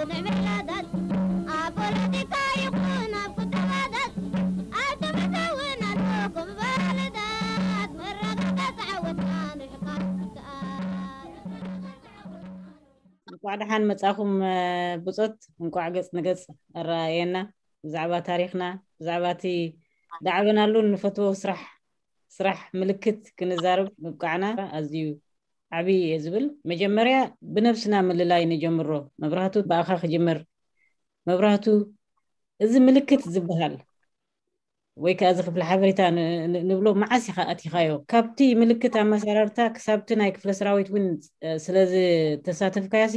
ምዕብላታት ኣብ ፖለቲካ ይኹን ኣብ ቁጠባታት ኣብ ትምህርቲ እውን ኣለኩም ባልታት መረጋጋት ዓወትና ንሕቃ እንቋዕ ደሓን መጻኹም። ብጾት እንቋዕ ገጽ ንገጽ ኣረኣየና። ብዛዕባ ታሪኽና፣ ብዛዕባ እቲ ዳዕበናሉ እንፈትዎ ስራሕ ስራሕ ምልክት ክንዛረብ ምብቃዕና ኣዝዩ ዓብዪ እየ ዝብል። መጀመርያ ብነብስና ምልላይ ንጀምሮ። መብራህቱ ብኣኻ ክጅምር። መብራህቱ፣ እዚ ምልክት ዝበሃል ወይ ከኣ እዚ ክፍሊ ሓበሬታ ንብሎ መዓስ ኢኻ ኣቲኻዮ? ካብቲ ምልክት ኣመሰራርታ ክሳብቲ ናይ ክፍለ ሰራዊት እውን ስለ ዝተሳተፍካዮሲ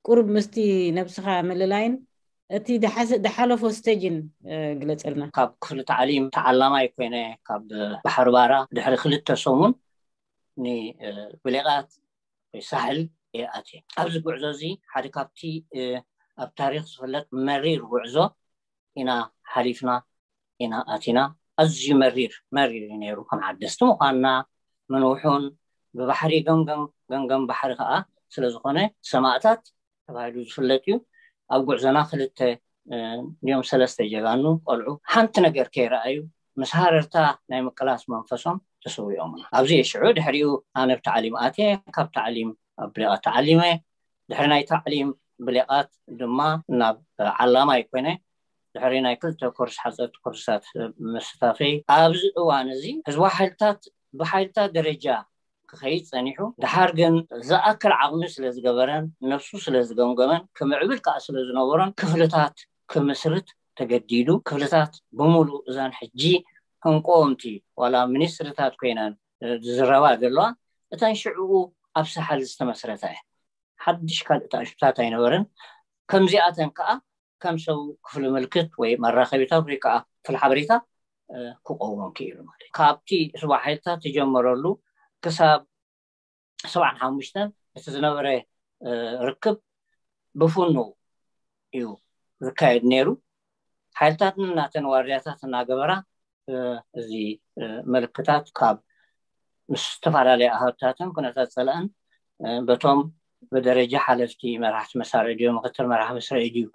ቁሩብ ምስቲ ነብስኻ ምልላይን እቲ ዝሓለፎ ስቴጅን ግለጸልና። ካብ ክፍሊ ታዕሊም ተዓላማይ ኮይነ ካብ ባሕሪ ባራ ድሕሪ ክልተ ሰሙን ንብሌቓት ወይ ሳሕል እየ ኣትየ። ኣብዚ ጉዕዞ እዚ ሓደ ካብቲ ኣብ ታሪኽ ዝፍለጥ መሪር ጉዕዞ ኢና ሓሊፍና ኢና ኣቲና። ኣዝዩ መሪር መሪር እዩ ነይሩ። ከም ዓደስቲ ምዃንና ምንውሑን ብባሕሪ ገምገም ገምገም ባሕሪ ከዓ ስለዝኾነ ሰማእታት ተባሂሉ ዝፍለጥ እዩ። ኣብ ጉዕዞና ክልተ እንዲዮም ሰለስተ ጀጋኑ ቆልዑ ሓንቲ ነገር ከይረኣዩ ምስ ሃረርታ ናይ ምቅላስ መንፈሶም ተሰዊኦምና። ኣብዚ ሽዑ ድሕሪኡ ኣነ ብታዕሊም ኣትየ፣ ካብ ታዕሊም ኣብ ብሌቓት ተዓሊመ። ድሕሪ ናይ ታዕሊም ብሌቓት ድማ ናብ ዓላማይ ኮይነ ድሕሪ ናይ ክልተ ኮርስ ሓፀርቲ ኮርስታት ምስታፈይ ኣብዚ እዋን እዚ ህዝባዊ ሓይልታት ብሓይልታት ደረጃ ክኸይድ ጸኒሑ። ድሓር ግን ዝኣክል ዓቕሚ ስለ ዝገበረን ነብሱ ስለ ዝገምገመን ክምዕብል ከዓ ስለ ዝነበሮን ክፍልታት ክምስርት ተገዲዱ። ክፍልታት ብምሉእ እዛን ሕጂ እንቆምቲ ዋላ ሚኒስትሪታት ኮይነን ዝዝረባ ዘለዋ እተን ሽዕኡ ኣብ ሳሕል ዝተመስረታ እየ። ሓድሽ ካልእ ተኣሽታት ኣይነበረን። ከምዚኣተን ከዓ ከም ሰብ ክፍሊ ምልክት ወይ መራኸቢታት ወይ ከዓ ክፍሊ ሓበሬታ ክቆዎም ክኢሉ ማለት እዩ። ካብቲ ስዋ ሓይልታት ዝጀመረሉ ክሳብ ሰብዓን ሓሙሽተን እቲ ዝነበረ ርክብ ብፍኑ እዩ ዝካየድ ነይሩ። ሓይልታትን ናተን ዋርድያታት እናገበራ እዚ ምልክታት ካብ ምስ ዝተፈላለየ ኣሃዱታትን ኩነታት ፀላእን በቶም ብደረጃ ሓለፍቲ መራሕቲ መሳርዒ ድዮ ምክትል መራሒ መስርዒ ድዩ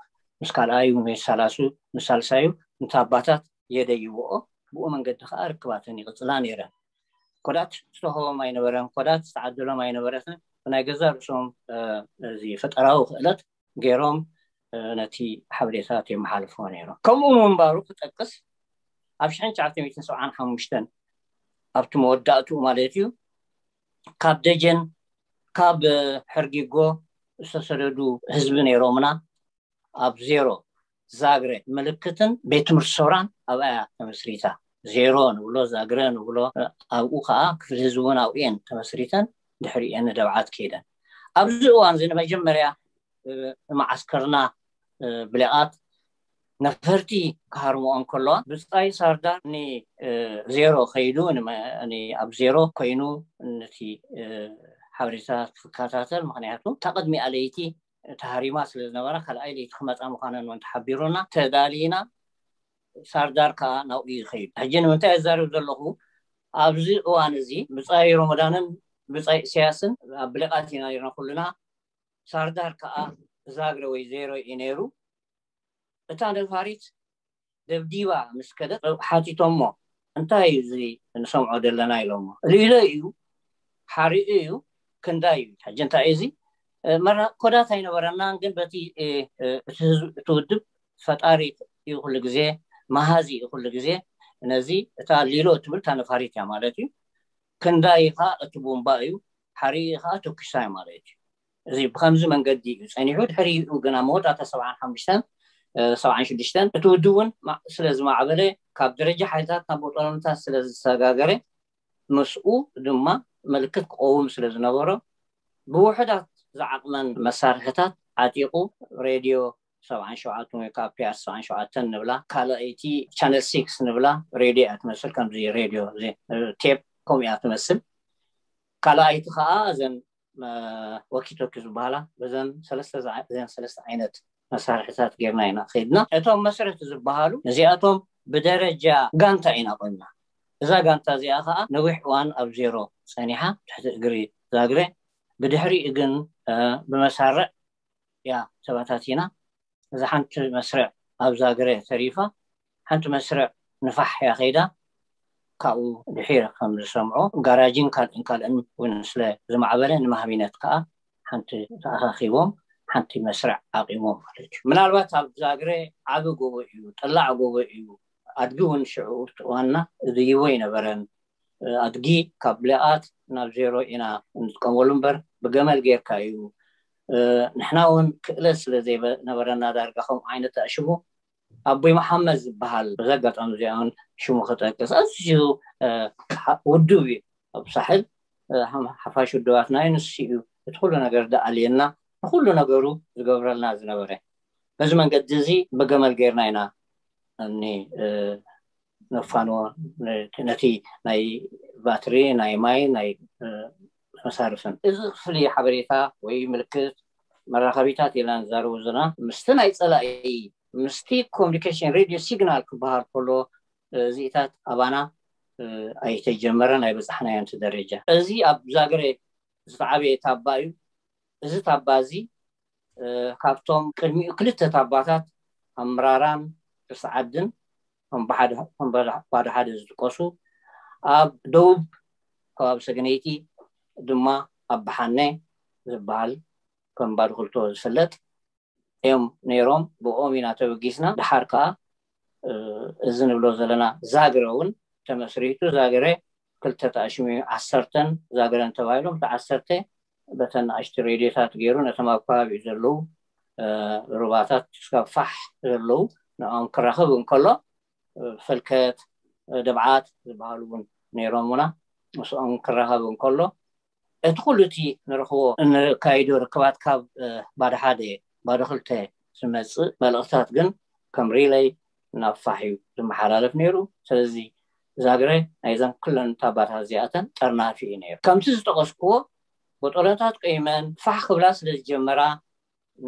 ምስ ካልኣዩ ምስ ሳላሱ ምስ ሳልሳዩ ምስ ኣባታት የደይብኦ። ብኡ መንገዲ ከዓ ርክባተን ይቕፅላ ነይረን። ኮዳት ዝተኸቦም ኣይነበረን፣ ኮዳት ዝተዓደሎም ኣይነበረትን። ብናይ ገዛ ርእሶም እዚ ፈጠራዊ ክእለት ገይሮም ነቲ ሓበሬታት የመሓልፍዎ ነይሮም። ከምኡ ምንባሩ ክጠቅስ ኣብ ሽሕን ትሽዓተ ሚእትን ሰብዓን ሓሙሽተን ኣብቲ መወዳእትኡ ማለት እዩ ካብ ደጀን ካብ ሕርጊጎ ዝተሰደዱ ህዝቢ ነይሮምና ኣብ ዜሮ ዛግረ ምልክትን ቤት ትምህርቲ ሰውራን ኣብኣ ተመስሪታ። ዜሮ ንብሎ ዛግረ ንብሎ ኣብኡ ከዓ ክፍሊ ህዝቢ እውን ኣብኡ እየን ተመስሪተን ድሕሪአን ንደብዓት ከይደን። ኣብዚ እዋን እዚ ንመጀመርያ መዓስከርና ብሌቓት ነፈርቲ ክሃርምኦ እንከለዋ ብፃይ ሳርዳር ንዜሮ ከይዱ ኣብ ዜሮ ኮይኑ ነቲ ሓበሬታ ክከታተል። ምክንያቱ እታ ቅድሚኣ ለይቲ ተሃሪማ ስለ ዝነበራ ካልኣይ ለይቲ ክመፃ ምዃነን እውን ተሓቢሩና ተዳሊና። ሳርዳር ከዓ ናብኡ እዩ ዝኸይዱ። ሕጂ ንምንታይ ኣዛርብ ዘለኹ ኣብዚ እዋን እዚ ብፃይ ሮመዳንን ብፃይ እሰያስን ኣብ ብሌቓት ኢና ነርና ኩልና። ሳርዳር ከዓ ዛግረ ወይ ዜሮ እዩ ነይሩ። እታ ነፋሪት ደብዲባ ምስ ከደት ሓቲቶሞ እንታይ እዩ እዚ ንሰምዖ ዘለና ኢሎሞ። ልኢሎ እዩ ሓሪኡ እዩ ክንዳይ እዩ። ሕጂ እንታይ እዩ እዚ መራ ኮዳት ኣይነበረናን ግን በቲ እቲ ህዝብ እቲ ውድብ ፈጣሪ እዩ ኩሉ ግዜ መሃዚ እዩ ኩሉ ግዜ ነዚ እታ ሊሎ እትብል እታ ነፋሪት እያ ማለት እዩ። ክንዳይ ከዓ እቲ ቡምባ እዩ ሓሪኡ ከዓ ተኩሳ እዩ ማለት እዩ። እዚ ብከምዚ መንገዲ እዩ ፀኒሑ። ድሕሪኡ ግና መወዳእታ ሰብዓን ሓሙሽተን ሰብዓን ሽዱሽተን እቲ ውድብ እውን ስለ ዝማዕበለ ካብ ደረጃ ሓይልታት ናብ ቦጦሎምታት ስለ ዝሰጋገረ ምስኡ ድማ ምልክት ክቀውም ስለ ዝነበሮ ብውሕዳት ዝዓቕመን መሳርሕታት ዓጢቑ ሬድዮ ሰብዓን ሸውዓተን ወይ ከዓ ፒኣር ሰብዓን ሸውዓተን ንብላ ካልኣይቲ ቻነል ሲክስ ንብላ ሬድዮ እያ ትመስል። ከምዚ ሬድዮ ቴፕ ከምኡ እያ ትመስል። ካልኣይቲ ከዓ እዘን ወኪቶኪ ዝበሃላ በዘን ሰለስተ ዓይነት መሳርሕታት ጌርና ኢና ከይድና። እቶም መስረቲ ዝበሃሉ እዚኣቶም ብደረጃ ጋንታ ኢና ቆምና። እዛ ጋንታ እዚኣ ከዓ ነዊሕ እዋን ኣብ ዜሮ ፀኒሓ ትሕቲ እግሪ ዛግረ። ብድሕሪኡ ግን ብመሳርዕ እያ ተባታቲና። እዛ ሓንቲ መስርዕ ኣብ ዛግረ ተሪፋ፣ ሓንቲ መስርዕ ንፋሕ እያ ከይዳ። ካብኡ ድሒረ ከም ዝሰምዖ፣ ጋራጅን ካልእን ካልእን እውን ስለ ዝማዕበለ፣ ንማህቢነት ከዓ ሓንቲ ተኣኻኺቦም ሓንቲ መስርዕ ኣቂሞም ማለት እዩ። ምናልባት ኣብ ዛግረ ዓቢ ጎቦ እዩ፣ ጠላዕ ጎቦ እዩ። ኣድጊ እውን ሽዑ እዋንና ዝድይቦ ኣይነበረን። ኣድጊ ካብ ሌኣት ናብ ዜሮ ኢና እንጥቀመሉ እምበር፣ ብገመል ጌርካ እዩ። ንሕና እውን ክእለት ስለ ዘይነበረና፣ ዳርጋ ከምኡ ዓይነት ኣሽሙ ኣቦይ መሓመድ ዝበሃል፣ በዚ ኣጋጣሚ እዚኣ እውን ሽሙ ክጠቅስ፣ ኣዝዩ ውዱብ እዩ። ኣብ ሳሕል ሓፋሽ ውድባትና እዩ፣ ንሱ እዩ እቲ ኩሉ ነገር ደኣልየና፣ ንኩሉ ነገሩ ዝገብረልና ዝነበረ። በዚ መንገዲ እዚ ብገመል ጌርና ኢና እኒ ነፋንዎ፣ ነቲ ናይ ባትሪ፣ ናይ ማይ፣ ናይ መሳርፍን። እዚ ክፍሊ ሓበሬታ ወይ ምልክት መራኸቢታት ኢልና ንዛረቡ ዘለና፣ ምስቲ ናይ ጸላኢ፣ ምስቲ ኮሚኒኬሽን ሬድዮ ሲግናል ክበሃል ከሎ፣ እዚኢታት ኣባና ኣይተጀመረን፣ ኣይበጻሕናዮን እቲ ደረጃ። እዚ ኣብ ዛግረ ዝተዓበየ ታባ እዩ። እዚ ታባ እዚ ካብቶም ቅድሚኡ ክልተ ታባታት ኣምራራን ርስዓድን ከም ባዶ ሓደ ዝጥቀሱ፣ ኣብ ደቡብ ከባቢ ሰገነይቲ ድማ ኣብ ብሓነ ዝበሃል ከም ባዶ ክልተ ዝፍለጥ እዮም ነይሮም። ብኦም ኢና ተበጊስና። ድሓር ከዓ እዚ ንብሎ ዘለና ዛግረ እውን ተመስሪቱ። ዛግረ ክልተ ተኣሽሙ፣ ዓሰርተን ዛግረን ተባሂሎም፣ እቲ ዓሰርተ በተን ንኣሽቱ ሬድዮታት ገይሩ ነቶም ኣብ ከባቢኡ ዘለዉ ሩባታት ክሳብ ፋሕ ዘለዉ ንኦም ክራኸብ እንከሎ፣ ፈልከት፣ ደብዓት ዝበሃሉ እውን ነይሮምና። ምስኦም ክራኸብ እንከሎ፣ እቲ ኩሉ እቲ ንረኽቦ፣ እንካይዶ ርክባት ካብ ባዶ ሓደ፣ ባዶ ክልተ ዝመጽእ መልእኽታት ግን ከም ሪለይ ናብ ፋሕ እዩ ዝመሓላለፍ ነይሩ። ስለዚ ዛግረ ናይዘን ኩለን ታባታት እዚኣተን ጠርናፊ እዩ ነይሩ። ከምቲ ዝጠቐስክዎ፣ ቦጦሎታት ቆይመን ፋሕ ክብላ ስለ ዝጀመራ፣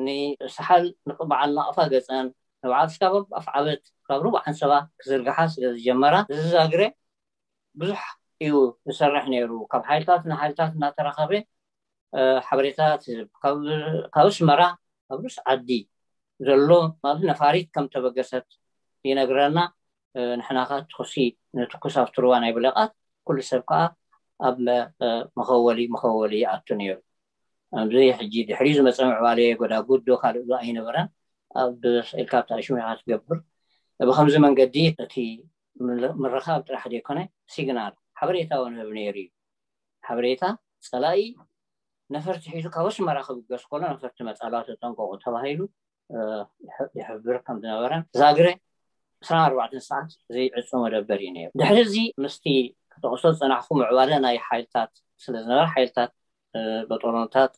ንሳሓል ንበዓል ናቕፋ ገጸን፣ ንበዓል ስካብ ኣፍዓበት ካብ ሩባ ዓንሰባ ክዝርግሓ ስለ ዝጀመራ፣ እዚ ዛግረ ብዙሕ እዩ ዝሰርሕ ነይሩ። ካብ ሓይልታት ንሓይልታት እናተራኸበ ሓበሬታት ካብ ኣስመራ፣ ካብ ሩስ ዓዲ ዘሎ ማለት ነፋሪት ከም ተበገሰት ይነግረና። ንሕና ከዓ ትኩሲ ንትኩስ ኣብቲ ሩባ ናይ ብለቓት፣ ኩሉ ሰብ ከዓ ኣብ መኸወሊ መኸወሊ ይኣቱ ነይሩ። ኣብዚ ሕጂ ድሕሪ ዝመፀ ምዕባለ ጎዳጉድ ዶ ካልእ ዶ ኣይነበረን። ኣብ ኢልካ ኣብቲ ኣሽሙ ኢኻ ትገብር። ብከምዚ መንገዲ እቲ ምርኻብ ጥራሕ ዘይኮነ፣ ሲግናል ሓበሬታ እውን ህብ ነይሩ እዩ። ሓበሬታ ጸላኢ ነፈርቲ ሒዙ ካብ ኣስመራ ክብገስ ከሎ፣ ነፈርቲ መጻልዋ ተጠንቀቑ ተባሂሉ ይሕብር ከም ዝነበረን፣ ዛግረ ዕስራን ኣርባዕተን ሰዓት ዘይዕጾ መደበር እዩ ነይሩ። ድሕሪ እዚ ምስቲ ክጠቕሶ ዝጸናሕኩ ምዕባለ ናይ ሓይልታት ስለ ዝነበረ፣ ሓይልታት በጦሎንታት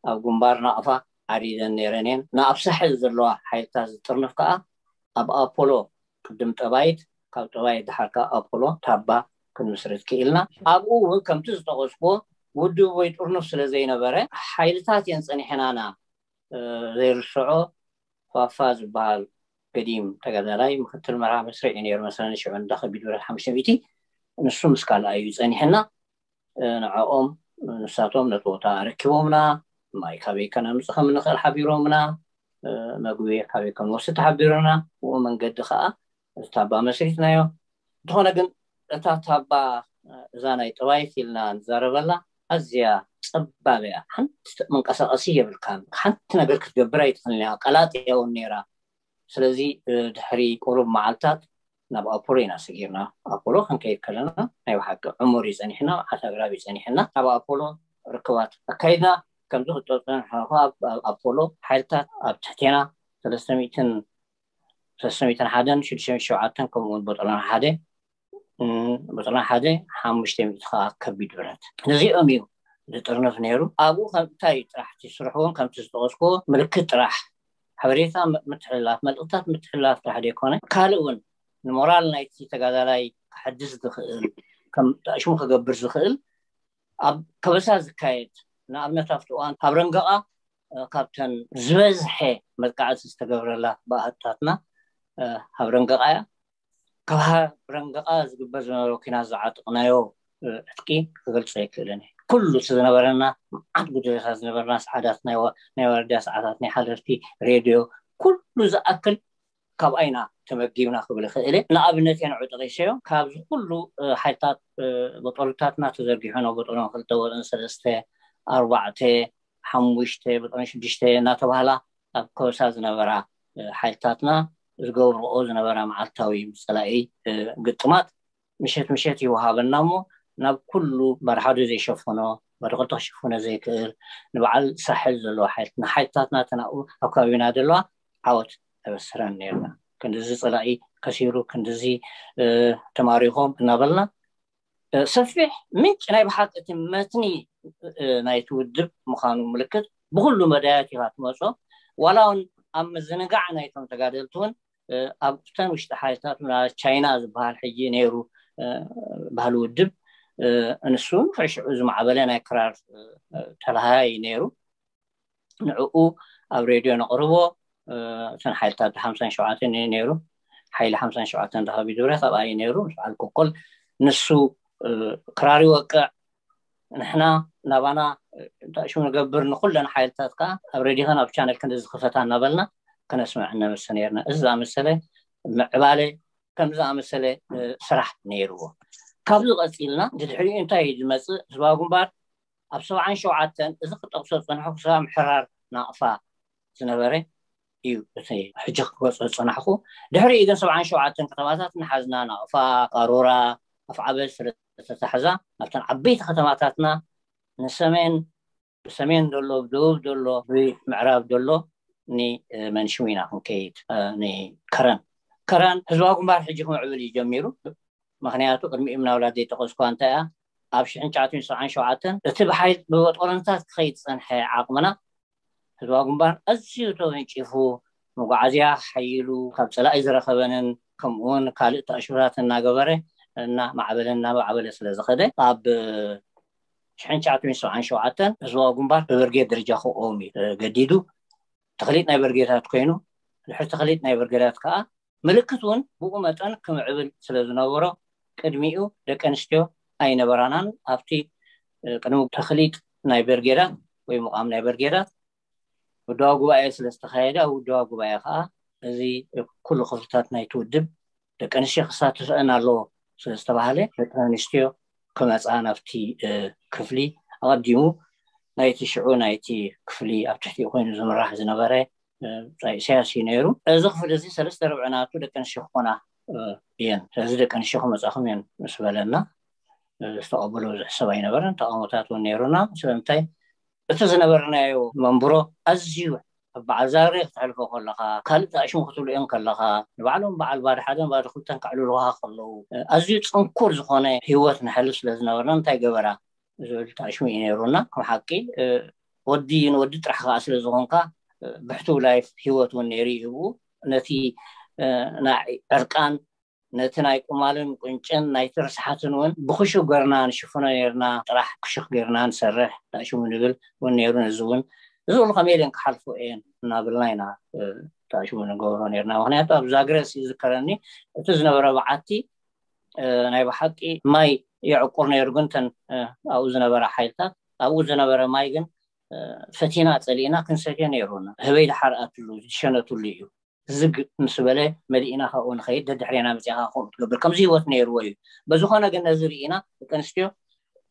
ኣብ ግንባር ናቕፋ ዓሪደን ነይረን እየን። ንኣብ ሳሕል ዘለዋ ሓይልታት ዝጥርንፍ ከኣ ኣብ ኣፖሎ፣ ቅድም ጠባይት፣ ካብ ጠባይት ድሓር ከኣ ኣፖሎ ታባ ክንምስርት ክኢልና። ኣብኡ እውን ከምቲ ዝጠቐስኩዎ ውድብ ወይ ጥርኑፍ ስለ ዘይነበረ፣ ሓይልታት እየን ጸኒሐናና። ዘይርስዖ ፋፋ ዝበሃል ገዲም ተጋዳላይ ምክትል መርሃ መስርዕ እዩ ነይሩ መሰለኒ። ሽዑ እንዳ ከቢድ ብረት ሓሙሽተ ሚእቲ፣ ንሱ ምስ ካልኣዩ ጸኒሕና። ንዕኦም፣ ንሳቶም ነቲ ቦታ ኣረኪቦምና፣ ማይ ካበይ ከነምጽእ ከም እንኽእል ሓቢሮምና፣ መግቢ ካበይ ከም ንወስድ ተሓቢሮምና። ብኡ መንገዲ ከኣ እዚ ታባ መስሪትናዮ። እንተኾነ ግን እታ ታባ፣ እዛ ናይ ጠባይት ኢልና ንዛረበላ፣ ኣዝያ ጸባብ እያ። ሓንቲ መንቀሳቐሲ የብልካን። ሓንቲ ነገር ክትገብር ኣይትኽእልን እያ። ቀላጥያ እውን ነይራ። ስለዚ ድሕሪ ቁሩብ መዓልታት ናብ ኣፖሎ ኢና ሰጊርና። ኣፖሎ ክንከይድ ከለና ናይ ብሓቂ ዕሙር እዩ ጸኒሕና፣ መዓት ኣግራብ እዩ ጸኒሕና። ኣብ ኣፖሎ ርክባት ኣካይድና። ከምዚ ክትጠቕሶ ንሕና ኣብ ኣፖሎ ሓይልታት ኣብ ትሕቴና ሰለስተ ሚእትን፣ ሰለስተ ሚእትን ሓደን ሽዱሽተ ሚእትን ሸውዓተን፣ ከምኡ እውን ቦጦሎኒ ሓደ፣ ቦጦሎኒ ሓደ ሓሙሽተ ሚእቲ ከዓ ከቢድ ብረት። ነዚኦም እዩ ዝጥርንፍ ነይሩ። ኣብኡ ከም እንታይ ጥራሕ እቲ ስርሑ እውን ከምቲ ዝጠቐስኩዎ ምልክት ጥራሕ፣ ሓበሬታ ም-፣ ምትሕልላፍ፣ መልእኽታት ምትሕልላፍ ጥራሕ ዘይኮነ፣ ካልእ እውን ንሞራል ናይቲ ተጋዳላይ ክሕድስ ዝኽእል፣ ከም ሽሙ ክገብር ዝኽእል፣ ኣብ ከበሳ ዝካየድ፣ ንኣብነት ኣብቲ እዋን ኣብ ረንገቓ፣ እ፣ ካብተን ዝበዝሐ መጥቃዕቲ ዝተገብረላ ብኣሃዱታትና፣ እ፣ ኣብ ረንገቓ እያ። ካብ ሃ-፣ ረንገቓ ዝግበር ዝነበረ ኲናት ዝዓጠቕናዮ፣ እ፣ ዕጥቂ ክገልጾ ኣይክእልን እየ። ኩሉ እቲ ዝነበረና፣ መዓት ጉጅለታት ዝነበረና፣ ሰዓዳት ናይ ወ-፣ ናይ ወረዳ ሰዓታት፣ ናይ ሓለፍቲ፣ ሬድዮ፣ ኩሉ ዝኣክል ካብኣ ኢና ተመጊብና ክብል ይኽእል እየ። ንኣብነት እየ ንዑ ጠቒሰዮ። ካብዚ ኩሉ ሓይልታት በጦልታትና ተዘርጊሑ ናብ በጦሎም ክልተ ወጥን ሰለስተ ኣርባዕተ ሓሙሽተ በጦን ሽዱሽተ እናተባህላ ኣብ ከበሳ ዝነበራ ሓይልታትና ዝገብርኦ ዝነበራ መዓልታዊ ብፀላኢ ግጥማት ምሸት ምሸት ይወሃበና እሞ ናብ ኩሉ ባዶ ሓደ ዘይሸፍኖ ባዶ ክልተ ክሽፍኖ ዘይክእል ንበዓል ሳሕል ዘለዎ ሓይልት ንሓይልታትና ተናኡ ኣብ ከባቢና ዘለዋ ዓወት ተበስረን ነርና። ክንድዚ ፀላኢ ከሲሩ ክንድዚ ተማሪኾም እናበልና ሰፊሕ ምንጭ ናይ ብሓቂ እቲ መትኒ ናይቲ ውድብ ምዃኑ ምልክት ብኩሉ መዳያት ኢኻ ትመፆ። ዋላ እውን ኣብ ምዝንጋዕ ናይቶም ተጋደልቲ እውን ኣብተን ውሽጢ ሓይልታት ቻይና ዝበሃል ሕጂ ነይሩ ባህሊ ውድብ፣ ንሱ ንክዕሽዑ ዝማዕበለ ናይ ክራር ተለሃይ ነይሩ። ንዕኡ ኣብ ሬድዮ ነቕርቦ። እተን ሓይልታት ሓምሳን ሸውዓተን እዩ ነይሩ። ሓይሊ ሓምሳን ሸውዓተን ዳኸቢ ድብረ ካብኣ እዩ ነይሩ። ምስ በዓል ኮኮል ንሱ ክራር ይወቅዕ። ንሕና ናባና እንታይ ሽሙ ንገብር፣ ንኩለን ሓይልታት ከዓ ኣብ ሬድዮን ኣብ ቻነል ክንዲ ዝኽፈታ እናበልና ክነስምዕ እነምስ ነርና። እዚ ዝኣመሰለ ምዕባለ ከም ዝኣመሰለ ስራሕ ነይርዎ። ካብዚ ቀፂልና ድድሕሪኡ እንታይ እዩ ዝመፅእ? ህዝባዊ ግንባር ኣብ ሰብዓን ሸውዓተን እዚ ክጠቕሶ ዝፀንሑ ክሳብ ምሕራር ናቕፋ ዝነበረ እዩ እቲ ሕጂ ክገልፆ ዝፀናሕኩ። ድሕሪኡ ግን ሰብዓን ሸውዓተን ከተማታት ንሓዝና ናቕፋ፣ ቃሮራ፣ ኣፍዓበ ስለተታሕዛ ናብተን ዓበይቲ ከተማታትና ንሰሜን ብሰሜን ዘሎ ብደቡብ ዘሎ ብምዕራብ ዘሎ ንመንሽም ኢና ክንከይድ ንከረን ከረን ህዝባዊ ግንባር ሕጂ ክምዕብል እዩ ጀሚሩ። ምክንያቱ ቅድሚኡ ምናልባት ዘይጠቀስኳ እንታይ እያ ኣብ ሽሕን ትሽዓተን ሰብዓን ሸውዓተን እቲ ብሓይል ብበጦሎንታት ክኸይድ ዝፀንሐ ዓቕምና ህዝባዊ ግንባር ኣዝዩ ተወንጪፉ መጓዓዝያ ሓይሉ ካብ ፀላኢ ዝረኸበንን ከምኡውን ካልእ ተኣሽታት እናገበረ እና ማዕበለ እናማዕበለ ስለ ዝኸደ ኣብ ሽሕን ትሽዓተን ሰብዓን ሸውዓተን ህዝባዊ ግንባር ብብርጌድ ደረጃ ክቆም እዩ ገዲዱ። ተክሊጥ ናይ ብርጌዳት ኮይኑ ድሕሪ ተክሊጥ ናይ ብርጌዳት ከዓ ምልክት እውን ብኡ መጠን ክምዕብል ስለ ዝነበሮ ቅድሚኡ ደቂ ኣንስትዮ ኣይነበራናን። ኣብቲ ቅድሚ ተክሊጥ ናይ ብርጌዳት ወይ ምቋም ናይ ብርጌዳት ውድባዊ ጉባኤ ስለ ዝተኻየደ ኣብ ውድባዊ ጉባኤ ከዓ እዚ ኩሉ ክፍልታት ናይቲ ውድብ ደቂ ኣንስትዮ ክሳተፈአን ኣለዎ ስለ ዝተባሃለ ደቂ ኣንስትዮ ክመፃ ናብቲ ክፍሊ ኣቐዲሙ ናይቲ ሽዑ ናይቲ ክፍሊ ኣብ ትሕቲኡ ኮይኑ ዝምራሕ ዝነበረ ብጻይ ኢሳያስ እዩ ነይሩ። እዚ ክፍሊ እዚ ሰለስተ ርብዒ ናቱ ደቂ ኣንስትዮ ክኾና እየን። ስለዚ ደቂ ኣንስትዮ ክመጻኹም እየን ምስ በለና ዝተቐበሎ ብዙሕ ሰብ ኣይነበረን። ተቃውሞታት እውን ነይሩና። ስለምንታይ እቲ ዝነበርናዮ መንብሮ ኣዝዩ ኣብ በዓል ዛግሬ ክትሕልፎ ከለኻ ካልእ ተኣሽሙ ክትብልኦም ከለኻ ንባዕሎም በዓል ባዶ ሓደን ባዶ ክልተን ከዕልሉኻ ከለዉ ኣዝዩ ጽንኩር ዝኾነ ህይወት ንሕልፍ ስለ ዝነበርና እንታይ ገበራ ዝብል ተኣሽሙ እዩ ነይሩና። ከም ሓቂ ወዲ ንወዲ ጥራሕ ከዓ ስለ ዝኾንካ ብሕቱው ላይፍ ህይወት እውን ነይሩ እዩ። ነቲ ናይ ዕርቃን ነቲ ናይ ቁማልን ቁንጭን ናይቲ ርስሓትን እውን ብክሹ ገርና ንሽፍኖ ነርና። ጥራሕ ክሹክ ገርና ንሰርሕ ዳሽሙ ንብል እውን ነይሩ። እዚ እውን እዚ ሉ ከመይ ኢለን ክሓልፉ እየን እናብልና ኢና ዳሽሙ ንገብሮ ነርና። ምክንያቱ ኣብ ዛግረስ ይዝከረኒ እቲ ዝነበረ በዓቲ ናይ ብሓቂ ማይ የዕቁር ነይሩ። ግን ተን ኣብኡ ዝነበረ ሓይልታት ኣብኡ ዝነበረ ማይ ግን ፈቲና ፀሊእና ክንሰትዮ ነይሩና። ህበይ ድሓር ኣትሉ ዝሸነትሉ እዩ። ዝግ ምስ በለ መሊእና ካብኡ ንኸይድ ደድሕሬና መፅኻ ከምኡ ትገብር ከምዚ ህይወት ነይርዎ እዩ። በዝኾነ ግን ነዚ ርኢና ደቂ ኣንስትዮ